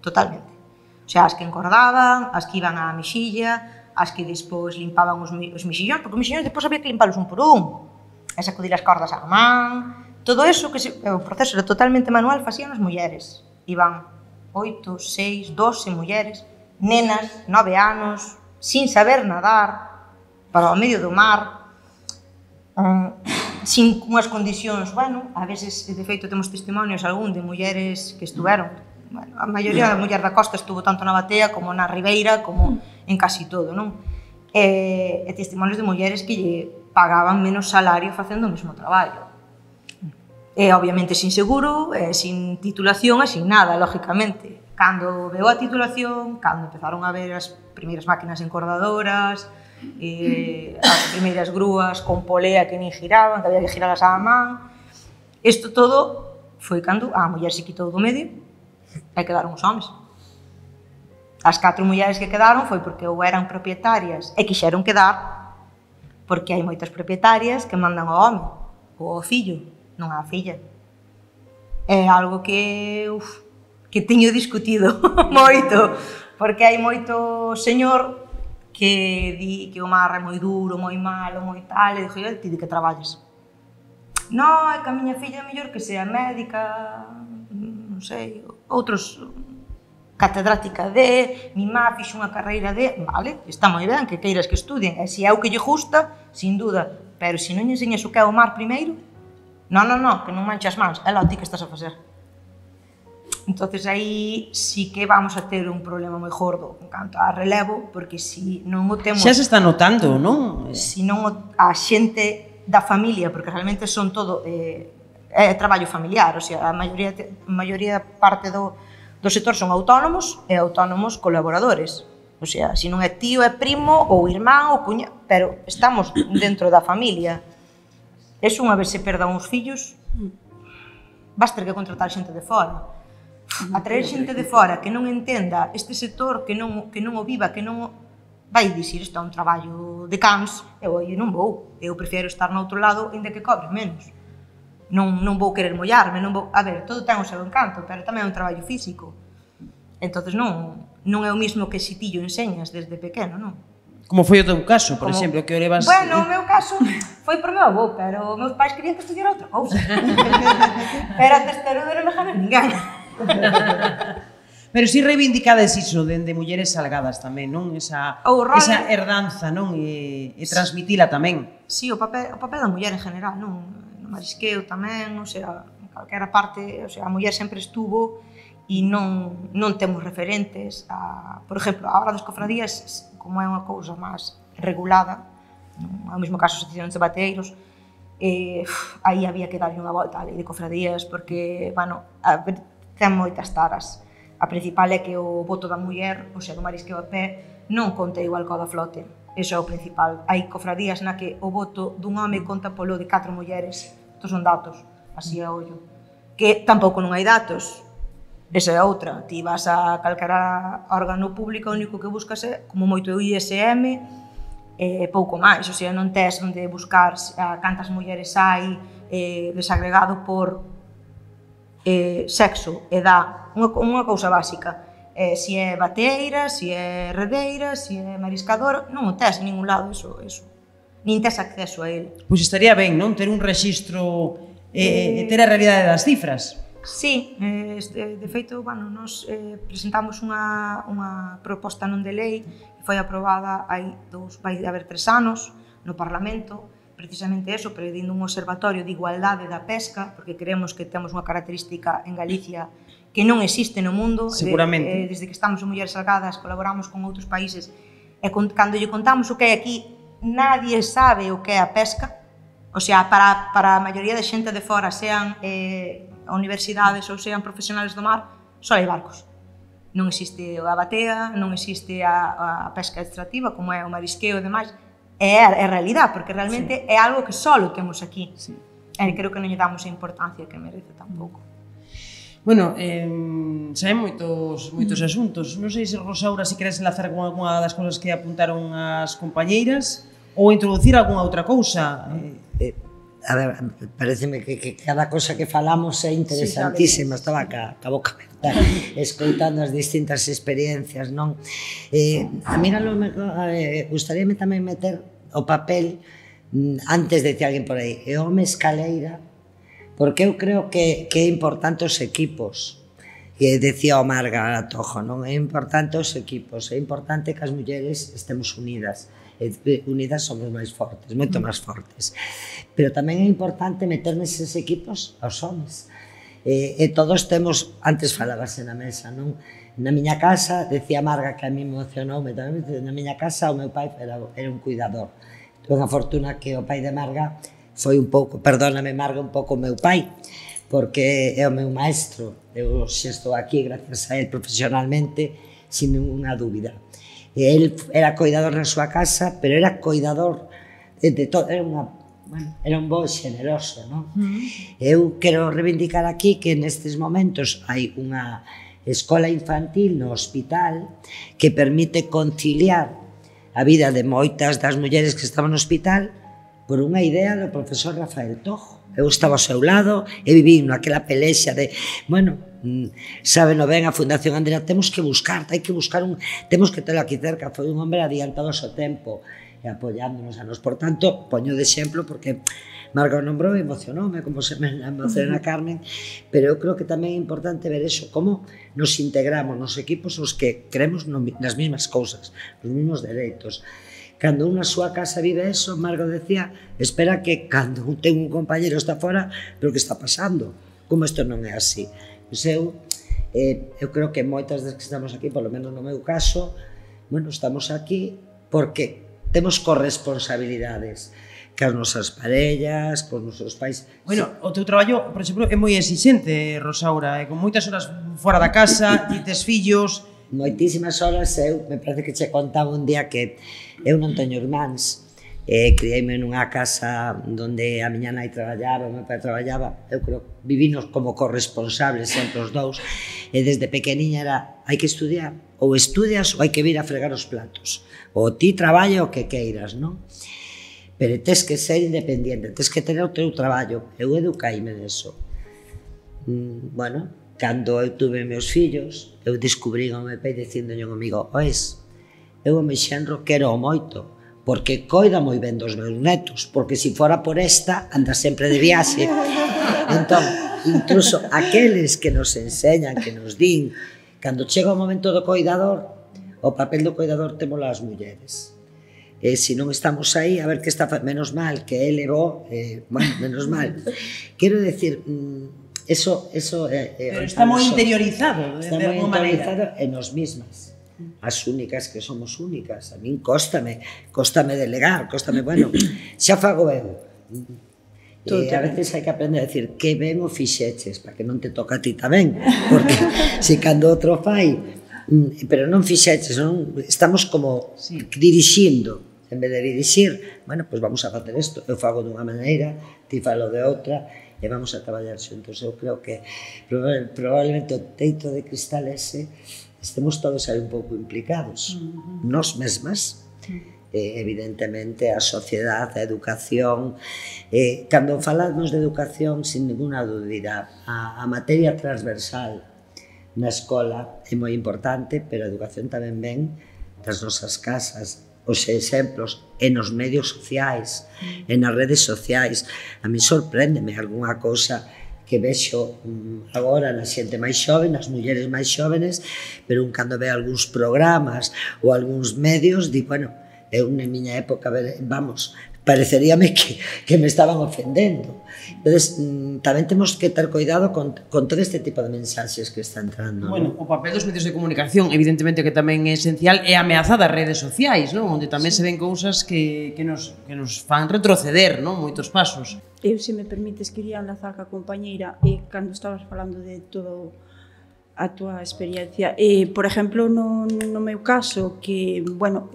totalmente. O sea, as que encordaban, as que iban á mexilla, as que despois limpaban os mexillóns, porque os mexillóns despois había que limpalos un por un, e sacudir as cordas á man, todo eso, que o proceso era totalmente manual, facían as mulleres. Iban 8, 6, 12 mulleres, nenas, 9 anos, sin saber nadar, para o medio do mar, sin unhas condicións, bueno, a veces, de feito, temos testimonios algún de mulleres que estuveron, bueno, a maioría da muller da costa estuvo tanto na batea como na ribeira, como en casi todo, non? E testimonios de mulleres que lle pagaban menos salario facendo o mesmo traballo. E, obviamente, sin seguro, sin titulación e sin nada, lógicamente. Cando veo a titulación, cando empezaron a ver as primeiras máquinas encordadoras, as primeiras grúas con polea que nin giraban, que había que girarlas á man, isto todo foi cando a muller se quitou do medio e quedaron os homes. As 4 mulleres que quedaron foi porque ou eran propietarias e quixeron quedar, porque hai moitas propietarias que mandan ao home ou ao fillo, non á filla. É algo que teño discutido moito, porque hai moito señor que di que o mar é moi duro, moi malo, moi tal, e dixo, ti de que traballes? Non, é que a miña filla é mellor que sea médica, non sei, outros catedrática de, mi má fixo unha carreira de, vale, está moi ben que queiras que estudien, e se é o que lle gusta, sin duda, pero se non lle enseñas o que é o mar primeiro, non, que non manches mans, é lá ti que estás a facer. Entonces aí sí que vamos a ter un problema moi gordo en canto a relevo, porque si non o temos... Xa se está notando, non? Si non a xente da familia, porque realmente son todo é traballo familiar, o sea, a maioría parte do sector son autónomos e autónomos colaboradores. O sea, si non é tío, é primo, ou irmán, ou cuña, pero estamos dentro da familia. Es unha vez se perda uns fillos, vas ter que contratar xente de fora. A traer xente de fora que non entenda este sector, que non o viva, que non o... vai dicir, isto é un traballo de cans, eu non vou. Eu prefiero estar no outro lado, ainda que cobre menos. Non vou querer mollarme, non vou... A ver, todo ten o seu encanto, pero tamén é un traballo físico. Entonces non é o mismo que si ti o enseñas desde pequeno, non? Como foi o teu caso, por exemplo, que o levas... Bueno, o meu caso foi por meu avó, pero os meus pais querían que estudiara outra cousa. Pero a testarudo non me jame ninguén. Pero si reivindicades iso dende mulleres salgadas tamén, non? Esa herdanza, non? E transmitila tamén. Si, o papel da muller en general, non? No marisqueo tamén, o sea, en calquera parte, o sea, a muller sempre estuvo e non temos referentes a... Por exemplo, a hora das cofradías, como é unha cousa máis regulada, non é o mesmo caso as asociacións de bateeiros, aí había que darlle unha volta á lei de cofradías, porque, bueno, ten moitas taras. A principal é que o voto da muller, o sea, do marisqueo a pé, non conta igual que o da flote. Iso é o principal. Hai cofradías na que o voto dun home conta polo de 4 mulleres. Estos son datos, así a ollo. Que tampouco non hai datos. Esa é outra. Ti vas a calquera órgano público, o único que buscas é, como moito, o ISM, pouco máis. O sea, non tes onde buscar cantas mulleres hai desagregado por sexo, edad, unha cousa básica. Si é bateeira, si é redeira, si é mariscador, non o tes en ningún lado, eso. Nin tes acceso a ele. Pois estaría ben, non? Ter un rexistro e ter a realidade das cifras. Sí, de feito, bueno, nos presentamos unha proposta non de lei que foi aprobada vai haber 3 anos no Parlamento, precisamente eso, pedindo un observatorio de igualdade da pesca, porque creemos que temos unha característica en Galicia que non existe no mundo. Seguramente. Desde que estamos en Mulleres Salgadas, colaboramos con outros países, e cando lle contamos o que hai aquí, nadie sabe o que é a pesca. O sea, para a maioría de xente de fora, sean universidades ou sean profesionales do mar, só hai barcos. Non existe a batea, non existe a pesca extractiva, como é o marisqueo e demais. É a realidade, porque realmente é algo que só temos aquí. Creo que non lle damos a importancia que merece tampouco. Bueno, xa hai moitos asuntos. Non sei se, Rosaura, se queres enlazar con alguna das cousas que apuntaron as compañeiras ou introducir algunha outra cousa. A ver, pareceme que cada cosa que falamos é interesantísima. Estaba ca boca aberta escoitando as distintas experiencias, non? A mí gustaríame tamén meter o papel, antes de que alguén por aí, o home escaleira, porque eu creo que é importante os equipos. Que decía o Marga Atojo, non? É importante os equipos, é importante que as mulleres estemos unidas. Unidas somos máis fortes, moito máis fortes. Pero tamén é importante meter neses equipos aos homes. E todos temos, antes falábase na mesa, non? Na miña casa, decía Marga, que a mí me emocionou, na miña casa o meu pai era un cuidador. Tuve a fortuna que o pai de Marga foi un pouco, perdóname Marga, un pouco o meu pai, porque é o meu maestro. Eu xa estou aquí gracias a él profesionalmente, sin ninguna dúbida. Él era cuidador na súa casa, pero era cuidador de todo, era un bo xeneroso, non? Eu quero reivindicar aquí que nestes momentos hai unha escola infantil no hospital que permite conciliar a vida de moitas das mulleres que estaban no hospital por unha idea do profesor Rafael Tojo. Eu estaba ao seu lado e viví naquela pelexa de, bueno, sábeno ben a Fundación Andrea, temos que buscar temos que telo aquí cerca. Foi un hombre adiantado ao seu tempo e apoiándonos a nos. Por tanto, poño de exemplo porque Marga o nombrou e emocionoume, como se me emociona Carmen, pero eu creo que tamén é importante ver eso, como nos integramos nos equipos os que creemos nas mesmas cousas, nos mesmos dereitos. Cando unha súa casa vive eso, Margo decía, espera que cando ten un compañero está fora, pero que está pasando? Como isto non é así? Pois eu creo que moitas das que estamos aquí, polo menos no meu caso, bueno, estamos aquí porque temos corresponsabilidades cas nosas parellas, cos nosos pais. Bueno, o teu traballo, por exemplo, é moi exixente, Rosaura, con moitas horas fora da casa, ti tes fillos. Moitísimas horas, eu me parece que che contaba un día que eu non teño irmáns, criei-me nunha casa onde a miña nai traballaba, o meu pai traballaba, eu creo que vivinos como corresponsables sempre os dous, e desde pequeniña era, hai que estudiar, ou estudias ou hai que vir a fregar os platos, ou ti traballa o que queiras, non? Pero tes que ser independiente, tes que tener o teu traballo. Eu educaime neso. Bueno, cando eu tuve meus fillos, eu descubrí ao meu pai dicíndolle ao amigo, oes, eu o meu xenro quero moito, porque coida moi ben dos meus netos, porque se fora por esta, anda sempre de viaxe. Entón, incluso aqueles que nos enseñan, que nos din, cando chega o momento do coidador, o papel do coidador temos as mulleres. Se non estamos aí, a ver que está, menos mal que ele bo, bueno, menos mal. Quero decir, eso pero está moi interiorizado, está moi interiorizado en nos mismas. As únicas que somos únicas. A min cóstame delegar, bueno, xa fago eu. A veces hai que aprender a decir que ben o fixeches, para que non te toca a ti tamén, porque se cando outro fai, pero non fixeches, estamos como dirixindo. En vez de dirixir, bueno, pois vamos a facer isto, eu fago dunha maneira, ti falo de outra, e vamos a traballar xuntos. Eu creo que probablemente o teito de cristal ese estemos todos aí un pouco implicados, nós mesmas, evidentemente a sociedade, a educación. Cando falamos de educación, sin ninguna dúbida, a materia transversal na escola é moi importante, pero a educación tamén ven das nosas casas, os exemplos e nos medios sociais, e nas redes sociais. A mí sorpréndeme algunha cousa que vexo agora na xente máis xoven, nas mulleres máis xóvenes, pero cando ve algúns programas ou algúns medios, di, bueno, eu na miña época, vamos, pareceríame que me estaban ofendendo. Entón, tamén temos que ter cuidado con todo este tipo de mensaxes que está entrando. Bueno, o papel dos medios de comunicación, evidentemente que tamén é esencial, é ameazada as redes sociais, non? Onde tamén se ven cousas que nos fan retroceder, non? Moitos pasos. Eu, se me permites, quería enlazar ca compañeira, e cando estabas falando de todo a túa experiencia, por exemplo, no meu caso, que, bueno,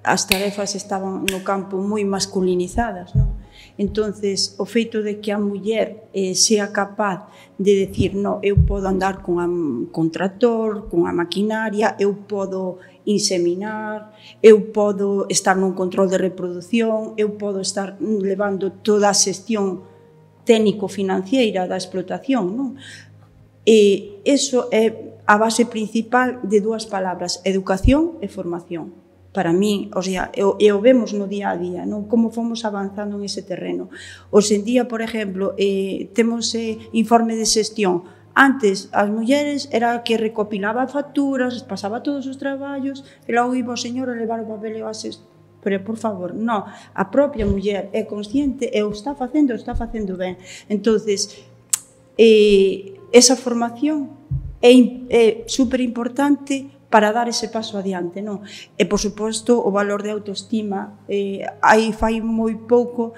as tarefas estaban no campo moi masculinizadas, non? Entonces, o feito de que a muller sea capaz de decir, no, eu podo andar con tractor, con a maquinaria, eu podo inseminar, eu podo estar nun control de reproducción, eu podo estar levando toda a xestión técnico-financiera da explotación, non? E iso é a base principal de dúas palabras, educación e formación. Para mí, o sea, e o vemos no día a día, non? Como fomos avanzando en ese terreno. Hoxe en día, por exemplo, temos informe de xestión. Antes, as mulleres era que recopilaba facturas, pasaba todos os traballos, e logo iba o señor a levar o papel e o ases. Pero, por favor, non. A propia muller é consciente e o está facendo ben. Entonces, esa formación é super importante para dar ese paso adiante, non? E, por suposto, o valor de autoestima, aí fai moi pouco,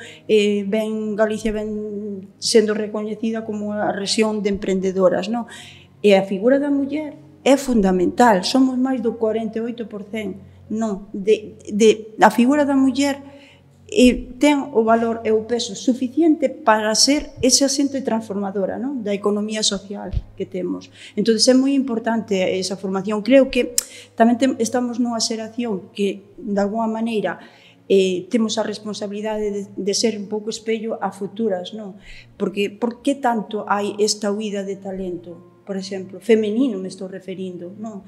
Galicia ven sendo recoñecida como a rexión de emprendedoras, non? E a figura da muller é fundamental, somos máis do 48%, non? A figura da muller ten o valor e o peso suficiente para ser esa xente transformadora, non? Da economía social que temos. Entón, é moi importante esa formación. Creo que tamén estamos nunha xeración que, de alguma maneira, temos a responsabilidade de ser un pouco espello a futuras, non? Porque, por que tanto hai esta huida de talento? Por exemplo, femenino me estou referindo, non?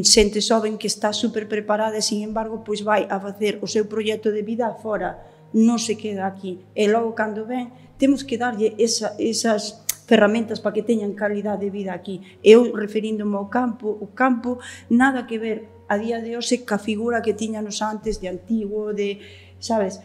Xente xoven que está super preparada e, sin embargo, pois vai a facer o seu proxecto de vida fora, non se queda aquí. E logo, cando ven, temos que darlle esas ferramentas para que teñan calidad de vida aquí. Eu, referíndome ao campo, o campo nada que ver a día de hoxe ca figura que tiñanos antes de antigo, de, sabes,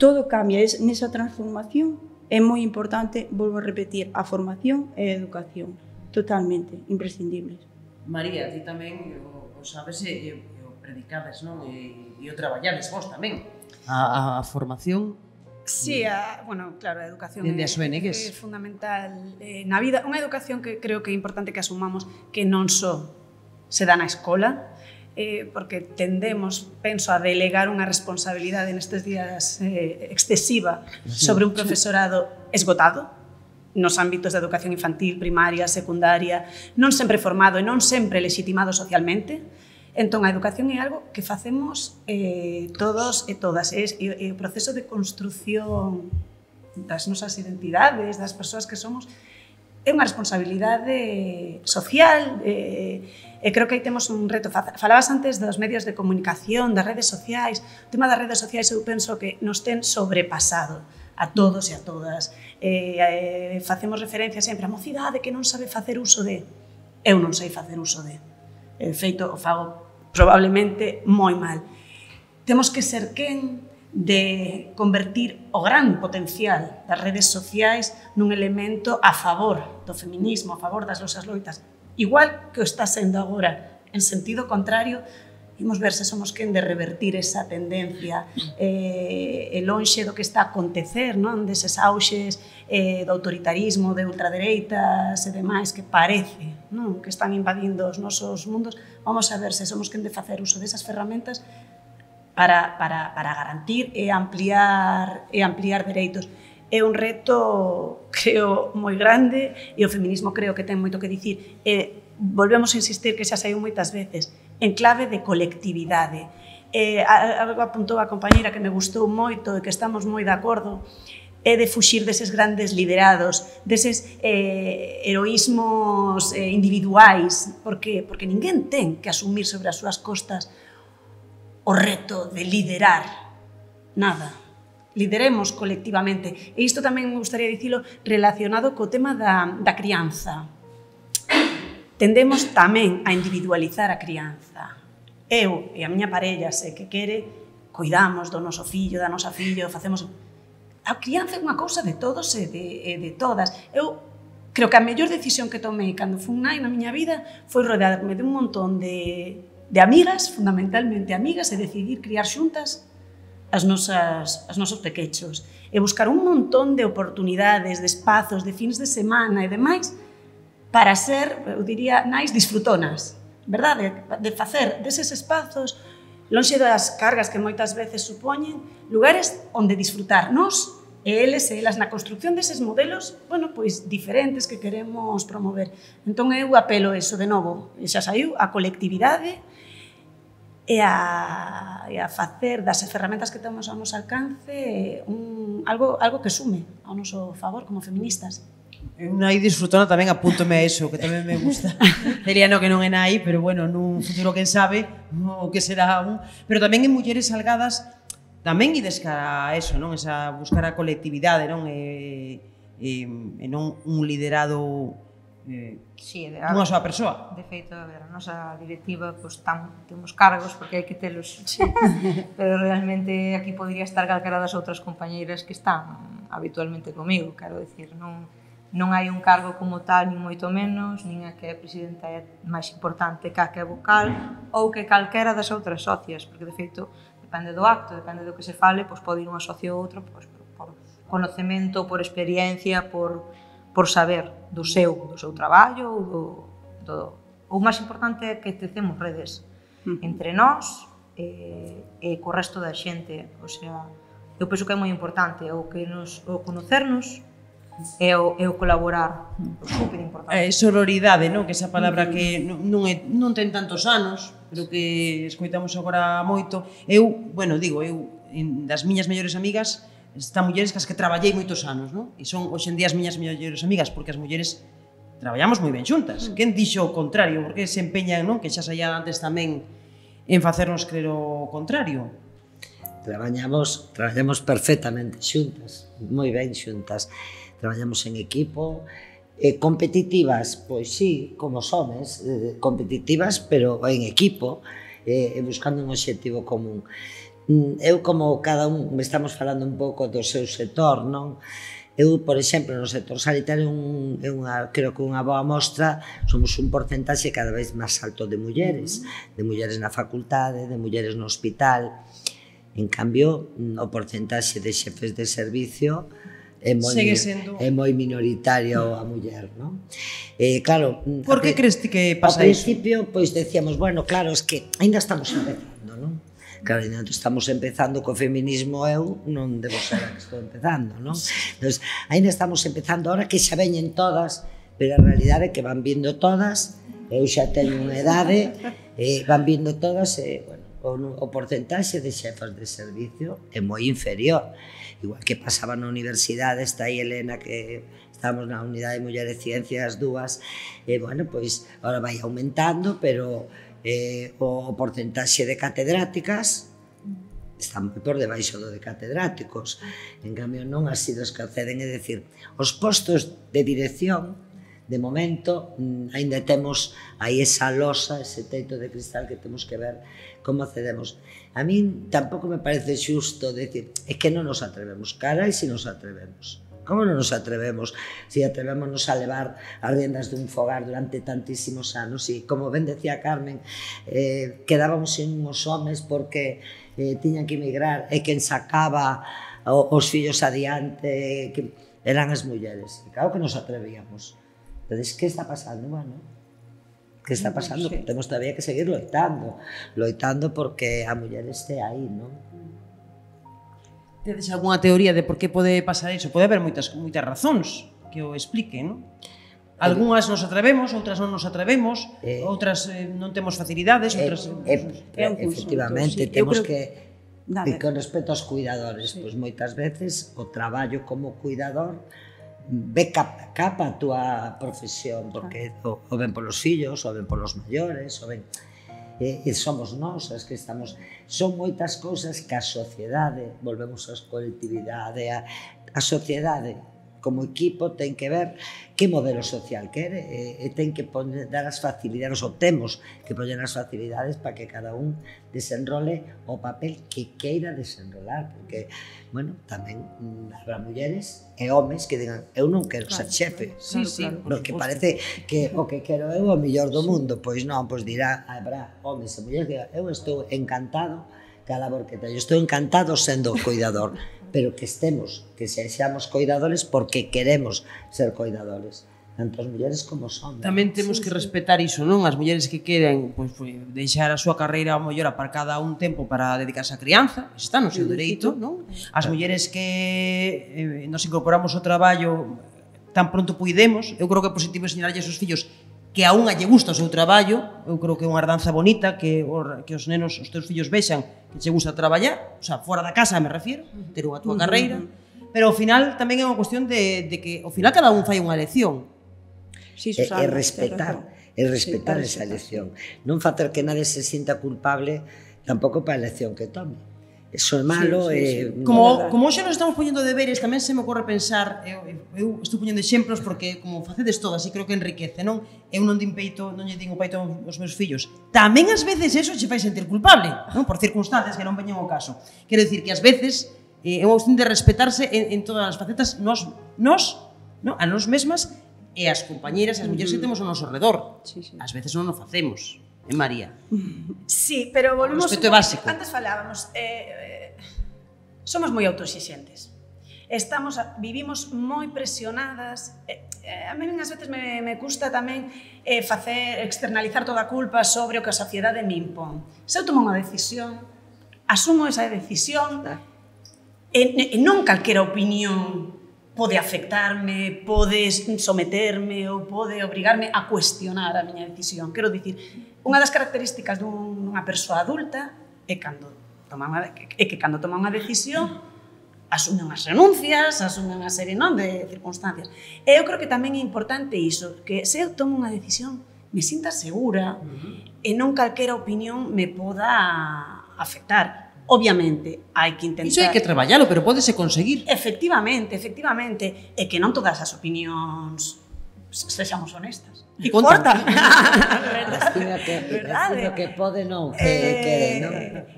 todo cambia, nesa transformación é moi importante, volvo a repetir, a formación e a educación, totalmente imprescindibles. María, ti tamén o sabes e o predicades, non? E o traballades vos tamén. A formación. Sí, bueno, claro, a educación Dende as ONGs. É fundamental na vida. Unha educación que creo que é importante que asumamos que non só se dá na escola, porque tendemos, penso, a delegar unha responsabilidade nestes días excesiva sobre un profesorado esgotado nos ámbitos de educación infantil, primaria, secundaria, non sempre formado e non sempre legitimado socialmente. Entón, a educación é algo que facemos todos e todas. É o proceso de construción das nosas identidades, das persoas que somos, é unha responsabilidade social. E creo que aí temos un reto. Falabas antes dos medios de comunicación, das redes sociais. O tema das redes sociais eu penso que nos ten sobrepasado a todos e a todas. Facemos referencia sempre a mocidade que non sabe facer uso de. Eu non sei facer uso de. De feito, o fago probablemente moi mal. Temos que ser quen de convertir o gran potencial das redes sociais nun elemento a favor do feminismo, a favor das nosas loitas. Igual que o está sendo agora, en sentido contrario, imos ver se somos quen de revertir esa tendencia e lonxe do que está a acontecer, non? Deses auxes do autoritarismo, de ultradereitas e demais que parece, non? Que están invadindo os nosos mundos. Vamos a ver se somos quen de facer uso desas ferramentas para garantir e ampliar dereitos. É un reto, creo, moi grande e o feminismo creo que ten moito que dicir. Volvemos a insistir que xa saiu moitas veces, en clave de colectividade. Algo apuntou a compañeira que me gustou moito e que estamos moi de acordo, é de fuxir deses grandes liderados, deses heroísmos individuais, porque ninguén ten que asumir sobre as súas costas o reto de liderar nada. Lideremos colectivamente. E isto tamén me gustaría dicilo relacionado co tema da crianza. Tendemos tamén a individualizar a crianza. Eu e a miña parella, se que quere, cuidamos do noso fillo, da nosa fillo, facemos... A crianza é unha cousa de todos e de todas. Eu creo que a mellor decisión que tomei cando fui nai na miña vida foi rodearme de un montón de amigas, fundamentalmente amigas, e decidir criar xuntas os nosos pequechos. E buscar un montón de oportunidades, de espazos, de fins de semana e demais para ser, eu diría, nais disfrutonas, verdade? De facer deses espazos, lonxe das cargas que moitas veces supoñen, lugares onde disfrutar nós e eles e elas na construcción deses modelos, bueno, pois diferentes que queremos promover. Entón eu apelo eso de novo, e xa saiu, a colectividade e a facer das ferramentas que temos ao noso alcance algo que sume ao noso favor como feministas. Eu nai disfrutona tamén apúntome a eso, que tamén me gusta. Diría no que non é nai, pero bueno, nun futuro quen sabe o que será un. Pero tamén en mulleres salgadas tamén ides cara a eso, non? Esa buscar a colectividade, non? E non un liderado dunha soa persoa. De feito, a ver, a nosa directiva temos cargos porque hai que telos, pero realmente aquí podría estar calquera das outras compañeiras que están habitualmente comigo, quero dicir, non hai un cargo como tal, nin moito menos, nin a que a presidenta é máis importante que a que é vocal ou que calquera das outras socias, porque de feito depende do acto, depende do que se fale, pois pode ir unha socio ou outro por conocemento, por experiencia, por saber do seu traballo ou máis importante é que tecemos redes entre nós e co resto da xente, o sea, eu penso que é moi importante o conocernos e o colaborar, é super importante. Sororidade, non? Que esa palabra que non ten tantos anos, pero que escoitamos agora moito. Eu das miñas mellores amigas están mulleres cas que traballei moitos anos, non? E son hoxe en día as miñas mellores amigas, porque as mulleres traballamos moi ben xuntas. Quen dixo o contrario? Porque se empeñan, non? Que xa saía antes tamén en facernos crer o contrario. Traballamos perfectamente xuntas, moi ben xuntas. Traballamos en equipo, competitivas, pois sí, como somes, competitivas, pero en equipo, buscando un obxectivo común. Eu, como cada un, estamos falando un pouco do seu sector, non? Eu, por exemplo, no sector sanitario creo que unha boa mostra, somos un porcentaxe cada vez máis alto de mulleres na facultade, de mulleres no hospital. En cambio, o porcentaxe de xefes de servicio é moi minoritario a muller, non? Claro, por que crees ti que pasa iso? Ao principio, pois decíamos, bueno, claro, es que ainda estamos empezando, non? Claro, ainda estamos empezando co feminismo, eu non debo ser a que estou empezando, non? Entón, ainda estamos empezando ahora que xa veñen todas, pero a realidade é que van vindo todas, eu xa teño unha idade, van vindo todas, bueno, o porcentaxe de xefas de servicio é moi inferior. Igual que pasaba na universidade, está aí Elena, que estamos na unidade de Mulleres e Ciencias, dúas, bueno, pois, ahora vai aumentando, pero o porcentaxe de catedráticas está moi por debaixo do de catedráticos. En cambio, non así dos que acceden, é dicir, os postos de dirección, de momento, ainda temos aí esa losa, ese teito de cristal que temos que ver como accedemos. A min tampouco me parece xusto decir, é que non nos atrevemos, carai se nos atrevemos. Como non nos atrevemos? Si atrevémonos a levar as riendas dun fogar durante tantísimos anos, e como ben decía Carmen, quedábamos sin uns homes porque tiñan que emigrar, e quen sacaba os fillos adiante eran as mulleres. E claro que nos atrevíamos. Entón, que está pasando? Bueno, que está pasando? Temos todavía que seguir loitando porque a muller este aí, non? Tedes algunha teoría de por que pode pasar iso? Pode haber moitas razóns que o expliquen, non? Algúnas nos atrevemos, outras non nos atrevemos, outras non temos facilidades, outras... Efectivamente, temos que... E con respecto aos cuidadores, pois moitas veces o traballo como cuidador ve capa a túa profesión, porque o ven polos fillos, o ven polos maiores, o ven... E somos nós as que estamos... Son moitas cousas que a sociedade, volvemos á colectividade, a sociedade como equipo ten que ver que modelo social quere e ten que dar as facilidades, ou temos que poñer as facilidades para que cada un desenrole o papel que queira desenrolar, porque, bueno, tamén habrá mulleres e homes que digan, eu non quero ser xefe, porque parece que o que quero eu é o mellor do mundo, pois non, pois dirá, habrá homes e mulleres que digan, eu estou encantado ca labor que teño, estou encantado sendo cuidador, pero que sexamos cuidadores porque queremos ser cuidadores, tanto as mulleres como os homes. Tamén temos que respetar iso, non? As mulleres que queren deixar a súa carreira ao mellor aparcada un tempo para dedicarse á crianza, está no seu dereito, non? As mulleres que nos incorporamos ao traballo tan pronto puidemos, eu creo que é positivo ensinarlle aos fillos que a unha lle gusta o seu traballo, eu creo que é unha herdanza bonita que os nenos, os teus fillos vexan que che gusta traballar, o sea, fora da casa me refiero, ter unha túa carreira, pero ao final tamén é unha cuestión de que ao final cada un fai unha elección. E respectar esa elección, non facer que nadie se sinta culpable tampouco para a elección que tome. Eso é malo. Como hoxe nos estamos poñendo deberes, tamén se me ocorre pensar, eu estou poñendo exemplos porque como facedes todas e creo que enriquece, non? Eu non din peito, non lle din o peito aos meus fillos. Tamén ás veces eso che fai sentir culpable, non? Por circunstancias que non veñen ao caso. Quero dicir que ás veces é unha cuestión de respetarse en todas as facetas, a nós mesmas e as compañeras e as mulleres que temos ao noso redor. Ás veces non o facemos. María. Sí, pero volvemos... O respeto é básico. Antes falábamos, somos moi autoexixentes. Vivimos moi presionadas. A mí ás veces me custa tamén externalizar toda a culpa sobre o que a sociedade me impón. Se eu tomo unha decisión, asumo esa decisión e non calquera opinión pode afectarme, pode someterme ou pode obrigarme a cuestionar a miña decisión. Quero dicir, unha das características dunha persoa adulta é que cando toma unha decisión asume unhas renuncias, asume unha serie de circunstancias. E eu creo que tamén é importante iso, que se eu tomo unha decisión me sinta segura e non calquera opinión me poda afectar. Obviamente, hai que intentar... Iso hai que traballalo, pero pódese conseguir. Efectivamente. E que non todas as opinións sexamos honestas. E contan. Estive a Verdade. Que pode non, que non.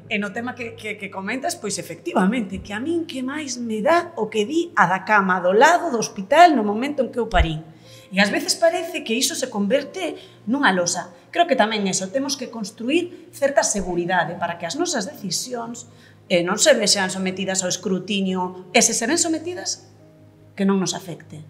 E no tema que comentas, pois efectivamente, que a min que máis me dá o que di a da cama do lado do hospital no momento en que eu parín. E ás veces parece que iso se converte nunha losa. Creo que tamén eso, temos que construir certa seguridade para que as nosas decisións non se vexan sometidas ao escrutinio e se ven sometidas, que non nos afecte.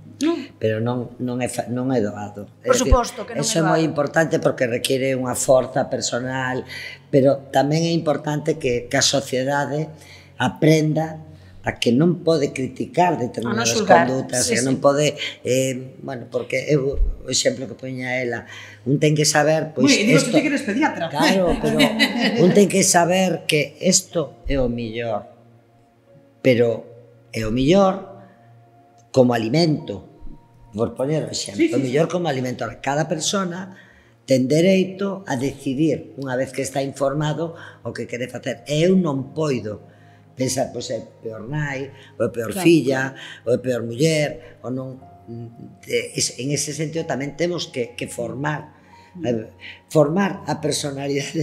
Pero non é doado. Por suposto que non é doado. Eso é moi importante porque requiere unha forza personal, pero tamén é importante que a sociedade aprenda a que non pode criticar determinadas condutas, que non pode, bueno, porque eu, o exemplo que poña ela, un ten que saber, pois isto... Tú que eres pediatra. Claro, pero un ten que saber que isto é o millor, pero é o millor como alimento, por poñer o exemplo, o mellor como alimento. Cada persona ten dereito a decidir, unha vez que está informado, o que quere facer. E eu non poido pensar, pois é peor nai, ou é peor filla, ou é peor muller, ou non... En ese sentido tamén temos que formar a personalidade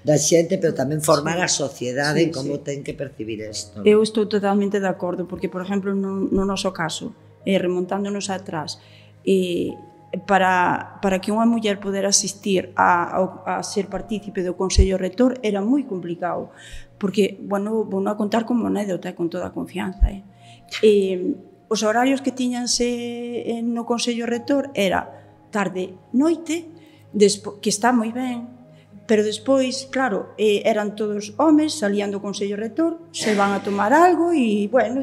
da xente, pero tamén formar a sociedade en como ten que percibir isto. Eu estou totalmente de acordo, porque, por exemplo, no noso caso, remontándonos atrás, para que unha muller poder asistir a ser partícipe do Consello Rector era moi complicado, porque, bueno, vou a contar como anécdota con toda a confianza. Os horarios que tiñanse no Consello Rector era tarde, noite, que está moi ben, pero despois, claro, eran todos homes, salían do Consello Rector, se van a tomar algo e, bueno,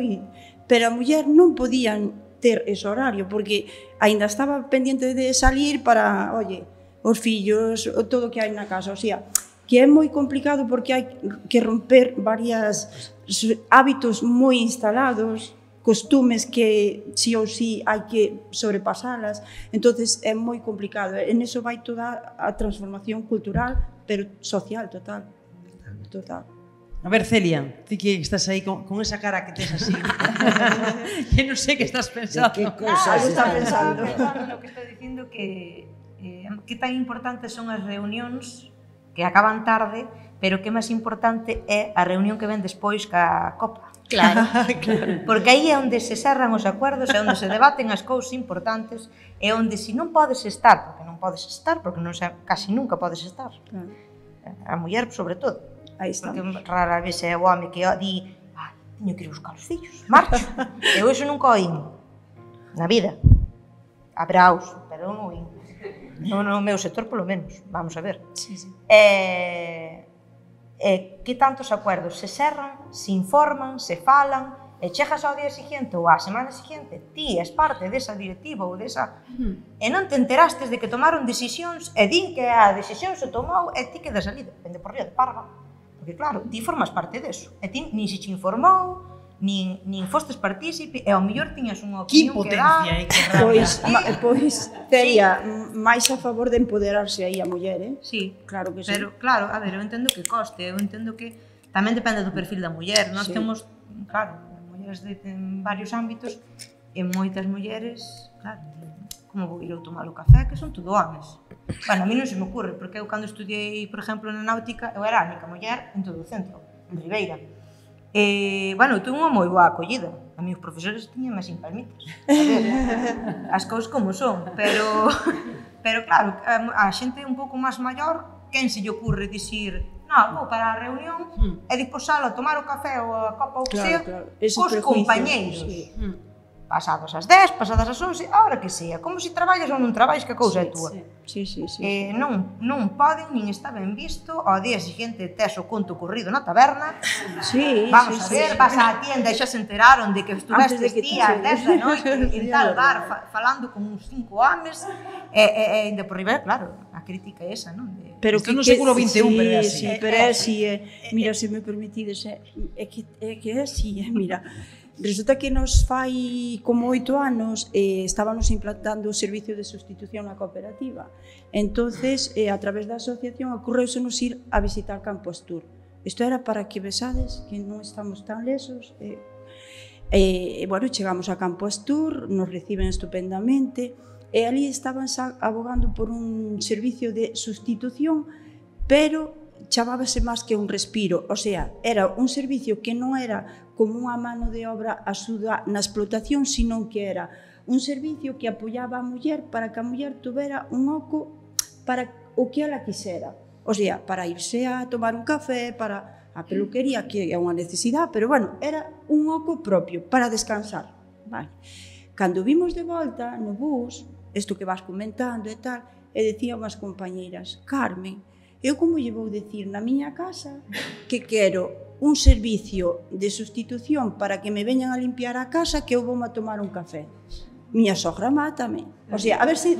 pero a muller non podían ter ese horario, porque aínda estaba pendiente de salir para, oye, os fillos, todo o que hai na casa, o sea, que é moi complicado porque hai que romper varios hábitos moi instalados, costumes que sí ou sí hai que sobrepasalas, entonces é moi complicado. En eso vai toda a transformación cultural, pero social, total. A ver, Celia, ti que estás aí con esa cara que tes así, que non sei que estás pensando. Que cosas estás pensando? Lo que estou dicindo que tan importantes son as reunións que acaban tarde, pero que máis importante é a reunión que ven despois ca copa. Claro. Porque aí é onde se cerran os acuerdos, é onde se debaten as cousas importantes, é onde se non podes estar, porque non casi nunca podes estar. A muller, sobre todo. Aí está. Porque rara vez é o home que di, teño que ir buscar os fillos, marcho. Eu iso nunca oín na vida. Habraos, pero non oín. No meu sector, polo menos, vamos a ver. Que tantos acuerdos se cerran, se informan, se falan, e chegas ao día seguinte ou á semana seguinte, ti és parte desa directiva ou desa... E non te enterastes de que tomaron decisións e din que a decisión se tomou e ti quedas ali, depende por ría de parva. Porque claro, ti formas parte deso. E ti nin se te informou, nin fostes partícipe, e ao mellor tiñas unha opinión que dar. Pois, Celia, máis a favor de empoderarse aí a muller, Sí, claro que sí. Pero, claro, a ver, eu entendo que coste, eu entendo que tamén depende do perfil da muller. Nós temos, claro, mulleres de varios ámbitos, e moitas mulleres, claro, como vou ir eu tomar o café, que son todo homes. Bueno, a mí non se me ocurre, porque eu cando estudiei, por exemplo, na náutica, eu era a única muller en todo o centro, en Ribeira. Bueno, eu tuve unha moi boa acollida. A mí os profesores tiñan máis palmitas. A ver, as cousas como son, pero claro, a xente un pouco máis maior, quen se lle ocurre dicir, non, vou para a reunión e despois salo a tomar o café ou a copa ou que sea, cos compañeiros. Pasadas as 10, pasadas as 11, a hora que sea, como se traballas ou non traballas, que a cousa é túa. Non poden, nin está ben visto, ao día seguinte tes o conto corrido na taberna, vamos a ver, vas á tienda e xa se enteraron de que estuvestes días 10 da noite en tal bar falando con uns 5 homes, e ainda por riba, claro, a crítica é esa, non? Pero que no seguro 21, pero é así. Pero é así, mira, se me permitides, é que é así, mira. Resulta que nos fai como 8 anos estábamos implantando o servicio de sustitución na cooperativa. Entonces, a través da asociación, ocurreusenos ir a visitar Campo Astur. Isto era para que besades que non estamos tan lesos. Bueno, chegamos a Campo Astur, nos reciben estupendamente, e ali estaban abogando por un servicio de sustitución, pero chamábase máis que un respiro, o sea, era un servicio que non era como unha mano de obra axuda na explotación, sino que era un servicio que apoiaba a muller para que a muller tuvera un oco para o que ela quixera. O sea, para irse a tomar un café, para a peluquería, que é unha necesidade, pero bueno, era un oco propio para descansar. Vale. Cando vimos de volta no bus, isto que vas comentando e tal, e decían as compañeiras, Carmen, eu como lle vou dicir na miña casa que quero un servicio de sustitución para que me veñan a limpiar a casa que eu vou a tomar un café. Miña sogra mátame. O sea, a ver se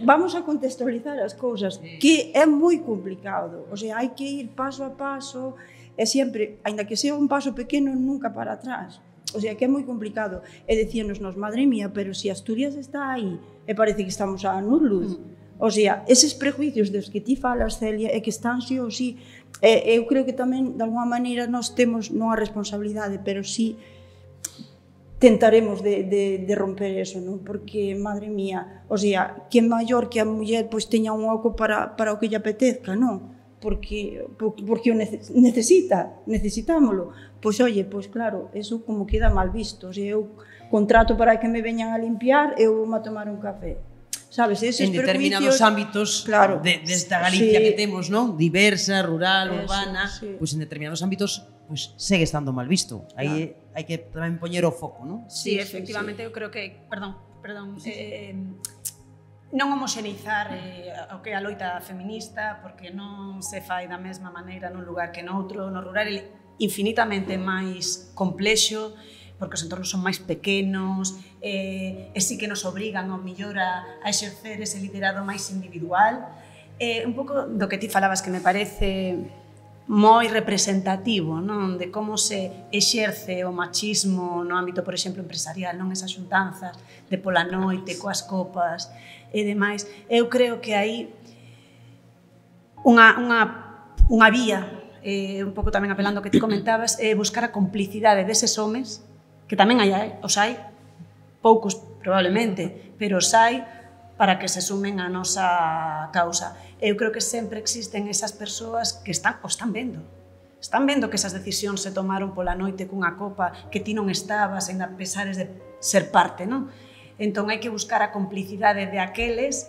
vamos a contextualizar as cousas, que é moi complicado. O sea, hai que ir paso a paso, e sempre, aínda que sea un paso pequeno, nunca para atrás. O sea, que é moi complicado. E decíanos, madre mía, pero se Asturias está aí, e parece que estamos a anos luz. O sea, eses prejuicios dos que ti falas, Celia, é que están sí ou sí. Eu creo que tamén, de alguma maneira, nós temos non a responsabilidade, pero sí tentaremos de romper eso, non? Porque, madre mía, o sea, que maior que a muller pois teña un oco para o que lle apetezca, non? Porque o necesitámolo. Pois, oye, pois claro, eso como queda mal visto. O sea, eu contrato para que me veñan a limpiar, eu vou a tomar un café. Sabes, eses en determinados ámbitos claro, desta Galicia que temos, non? Diversa, rural, urbana, pois en determinados ámbitos pois segue estando mal visto. Aí hai que tamén poñer o foco, non? Sí, efectivamente, eu creo que, perdón, non homoxeneizar o que é a loita feminista, porque non se fai da mesma maneira nun lugar que noutro. No rural é infinitamente máis complexo, porque os entornos son máis pequenos, e sí que nos obrigan ao mellor a exercer ese liderado máis individual. Un pouco do que ti falabas, que me parece moi representativo, non? De como se exerce o machismo no ámbito, por exemplo, empresarial, non? Esas xuntanzas de pola noite, coas copas e demais. Eu creo que hai unha vía, un pouco tamén apelando ao que ti comentabas, buscar a complicidade deses homes, que tamén os hai, poucos probablemente, pero os hai para que se sumen á nosa causa. Eu creo que sempre existen esas persoas que están vendo. Están vendo que esas decisións se tomaron pola noite cunha copa que ti non estabas, ainda pesares de ser parte, non? Entón hai que buscar a complicidade de aqueles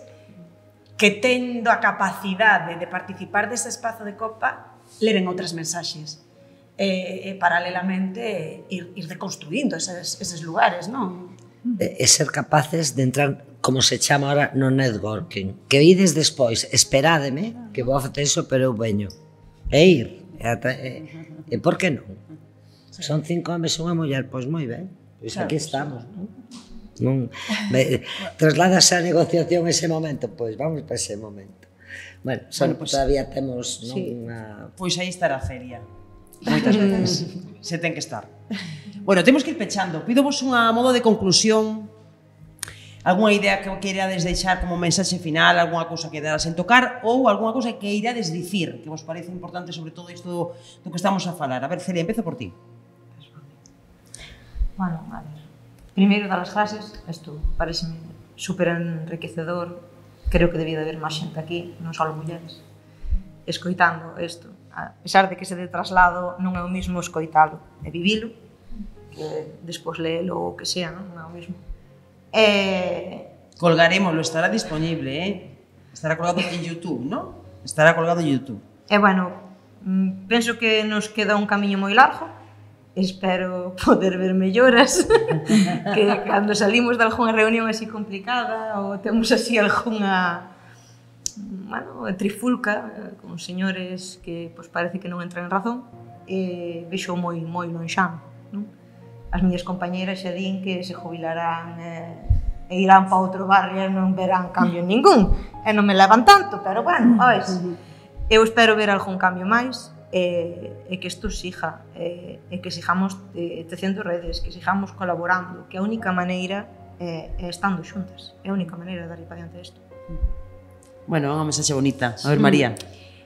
que tendo a capacidade de participar dese espazo de copa leven outras mensaxes. E paralelamente ir deconstruindo eses lugares, non? E ser capaces de entrar, como se chama ahora, no networking. Que ides despois, esperádeme, que vou a facer iso, pero eu veño. E ir. E por que non? Son 5 homes e unha muller, pois moi ben. Pois aquí estamos, non? Trasládase a negociación ese momento, pois vamos para ese momento. Bueno, todavía temos unha... Pois aí estará a feria. Moitas veces se ten que estar. Bueno, temos que ir pechando. Pídovos unha modo de conclusión, algunha idea que queirades deixar como mensaxe final, algunha cousa que quedaras en tocar ou algunha cousa que irades dicir que vos parece importante sobre todo isto do que estamos a falar. A ver, Celia, empezo por ti. Bueno, a ver. Primeiro, dar as gracias. Isto pareceme super enriquecedor. Creo que debía de haber máis xente aquí, non só mulleres, escoitando isto. A pesar de que ese de traslado non é o mismo escoitalo e vivilo, que despois leelo ou que sea, non é o mismo. Colgarémoslo, estará disponible, estará colgado en YouTube, non? Estará colgado en YouTube. E bueno, penso que nos queda un camiño moi largo, espero poder ver melloras, que cando salimos de algunha reunión así complicada ou temos así algunha trifulca con señores que pois, parece que non entran en razón, vexo moi lonxán, non? As miñas compañeras xa din que se jubilarán e irán para outro barrio e non verán cambio ningún, e non me levan tanto, pero bueno, eu espero ver algún cambio máis, e que isto siga, e que sigamos tecendo redes, que sigamos colaborando, que a única maneira é estando xuntas, é a única maneira de dar para diante isto. Bueno, unha mensaxe bonita. A ver, María.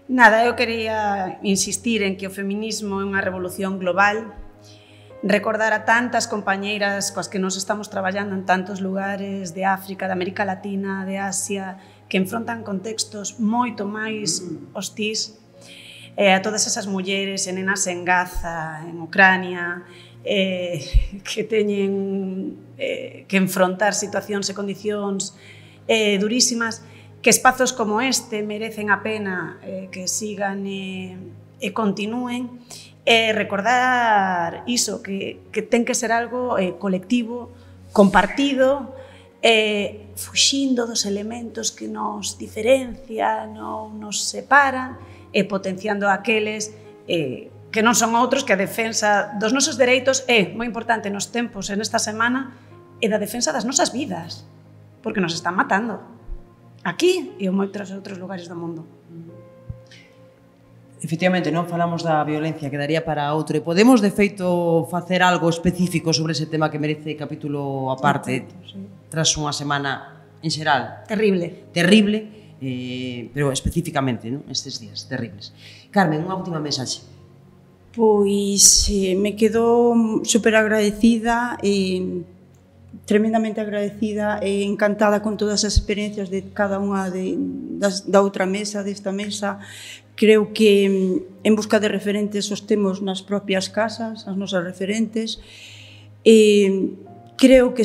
Nada, eu quería insistir en que o feminismo é unha revolución global recordar a tantas compañeiras coas que nos estamos traballando en tantos lugares de África, de América Latina, de Asia, que enfrontan contextos moito máis hostís, a todas esas mulleres e nenas en Gaza, en Ucrania, que teñen que enfrontar situacións e condicións durísimas, que espazos como este merecen a pena que sigan e continúen, recordar iso, que ten que ser algo colectivo, compartido, fuxindo dos elementos que nos diferencian ou nos separan e potenciando aqueles que non son outros que a defensa dos nosos dereitos é moi importante nos tempos en esta semana e da defensa das nosas vidas, porque nos están matando aquí e en moitos outros lugares do mundo. Efectivamente, non falamos da violencia, quedaría para outro. E podemos, de feito, facer algo específico sobre ese tema que merece capítulo aparte, tras unha semana en xeral Terrible. pero especificamente, non? Estes días terribles. Carmen, unha última mensaxe. Pois me quedo super agradecida tremendamente agradecida e encantada con todas as experiencias de cada unha da outra mesa, desta mesa. Creo que en busca de referentes os temos nas propias casas, as nosas referentes. Creo que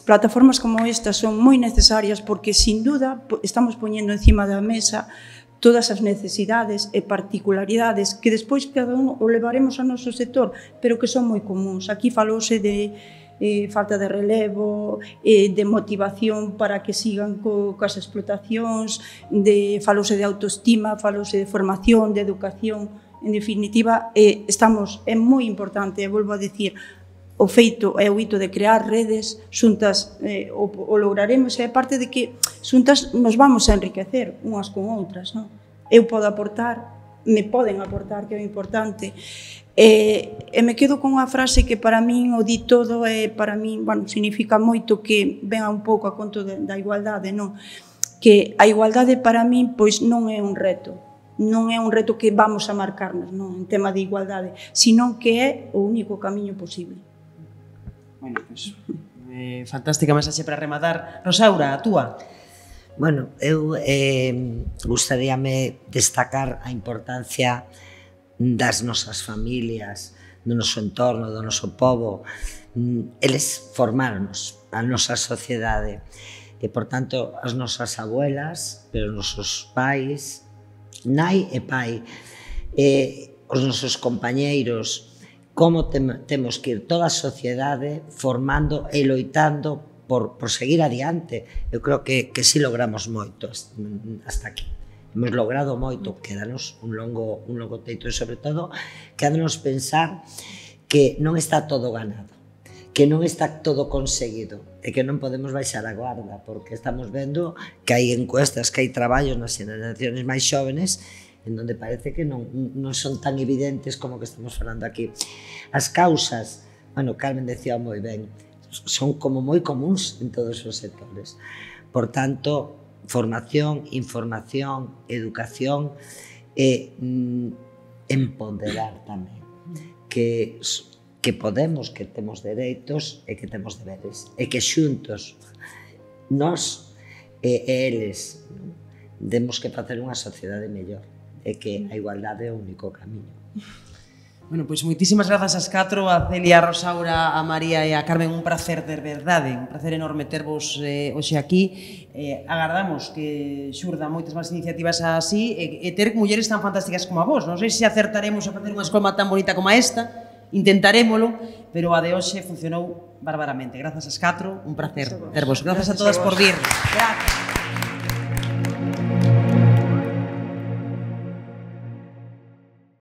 plataformas como estas son moi necesarias porque, sin duda, estamos poñendo encima da mesa todas as necesidades e particularidades que despois cada un o levaremos ao noso sector, pero que son moi comuns. Aquí falouse de falta de relevo, de motivación para que sigan coas explotacións, falouse de autoestima, falouse de formación, de educación. En definitiva, é moi importante, volvo a dicir, o feito e o hito de crear redes xuntas, o lograremos, e a parte de que xuntas nos vamos a enriquecer unhas con outras, non? Eu podo aportar, me poden aportar, que é importante. E me quedo con unha frase que para min o di todo e para min, bueno, significa moito, que venga un pouco a conto da igualdade, non? Que a igualdade para min pois non é un reto, non é un reto que vamos a marcarnos, non, en tema de igualdade, sino que é o único camiño posible. Bueno, pues, fantástica mensaxe para rematar. Rosaura, a túa? Bueno, eu gustaríame destacar a importancia das nosas familias, do noso entorno, do noso pobo. Eles formaronos a nosa sociedade e, por tanto, as nosas abuelas, pero os nosos pais, nai e pai, os nosos compañeiros, como temos que ir toda a sociedade formando e loitando por seguir adiante. Eu creo que si logramos moito hasta aquí. Hemos logrado moito, quedanos un longo teito e, sobre todo, quedanos pensar que non está todo ganado, que non está todo conseguido e que non podemos baixar a guarda, porque estamos vendo que hai encuestas, que hai traballos nas xeracións máis xóvenes en donde parece que non son tan evidentes como que estamos falando aquí. As causas, bueno, Carmen decía moi ben, son como moi comuns en todos os sectores. Por tanto, formación, información, educación e empoderar tamén que podemos, que temos dereitos e que temos deberes e que xuntos nós e eles temos que facer unha sociedade mellor e que a igualdade é o único camiño. Bueno, pois moitísimas grazas ás catro, a Celia, a Rosaura, a María e a Carmen, un placer de verdade, un placer enorme tervos hoxe aquí. Agardamos que xurdan moitas máis iniciativas así e ter mulleres tan fantásticas como a vos. Non sei se acertaremos a facer unha escola tan bonita como esta, intentarémolo, pero a de hoxe funcionou bárbaramente. Grazas ás catro, un placer tervos. Grazas a todas por vir. Gracias.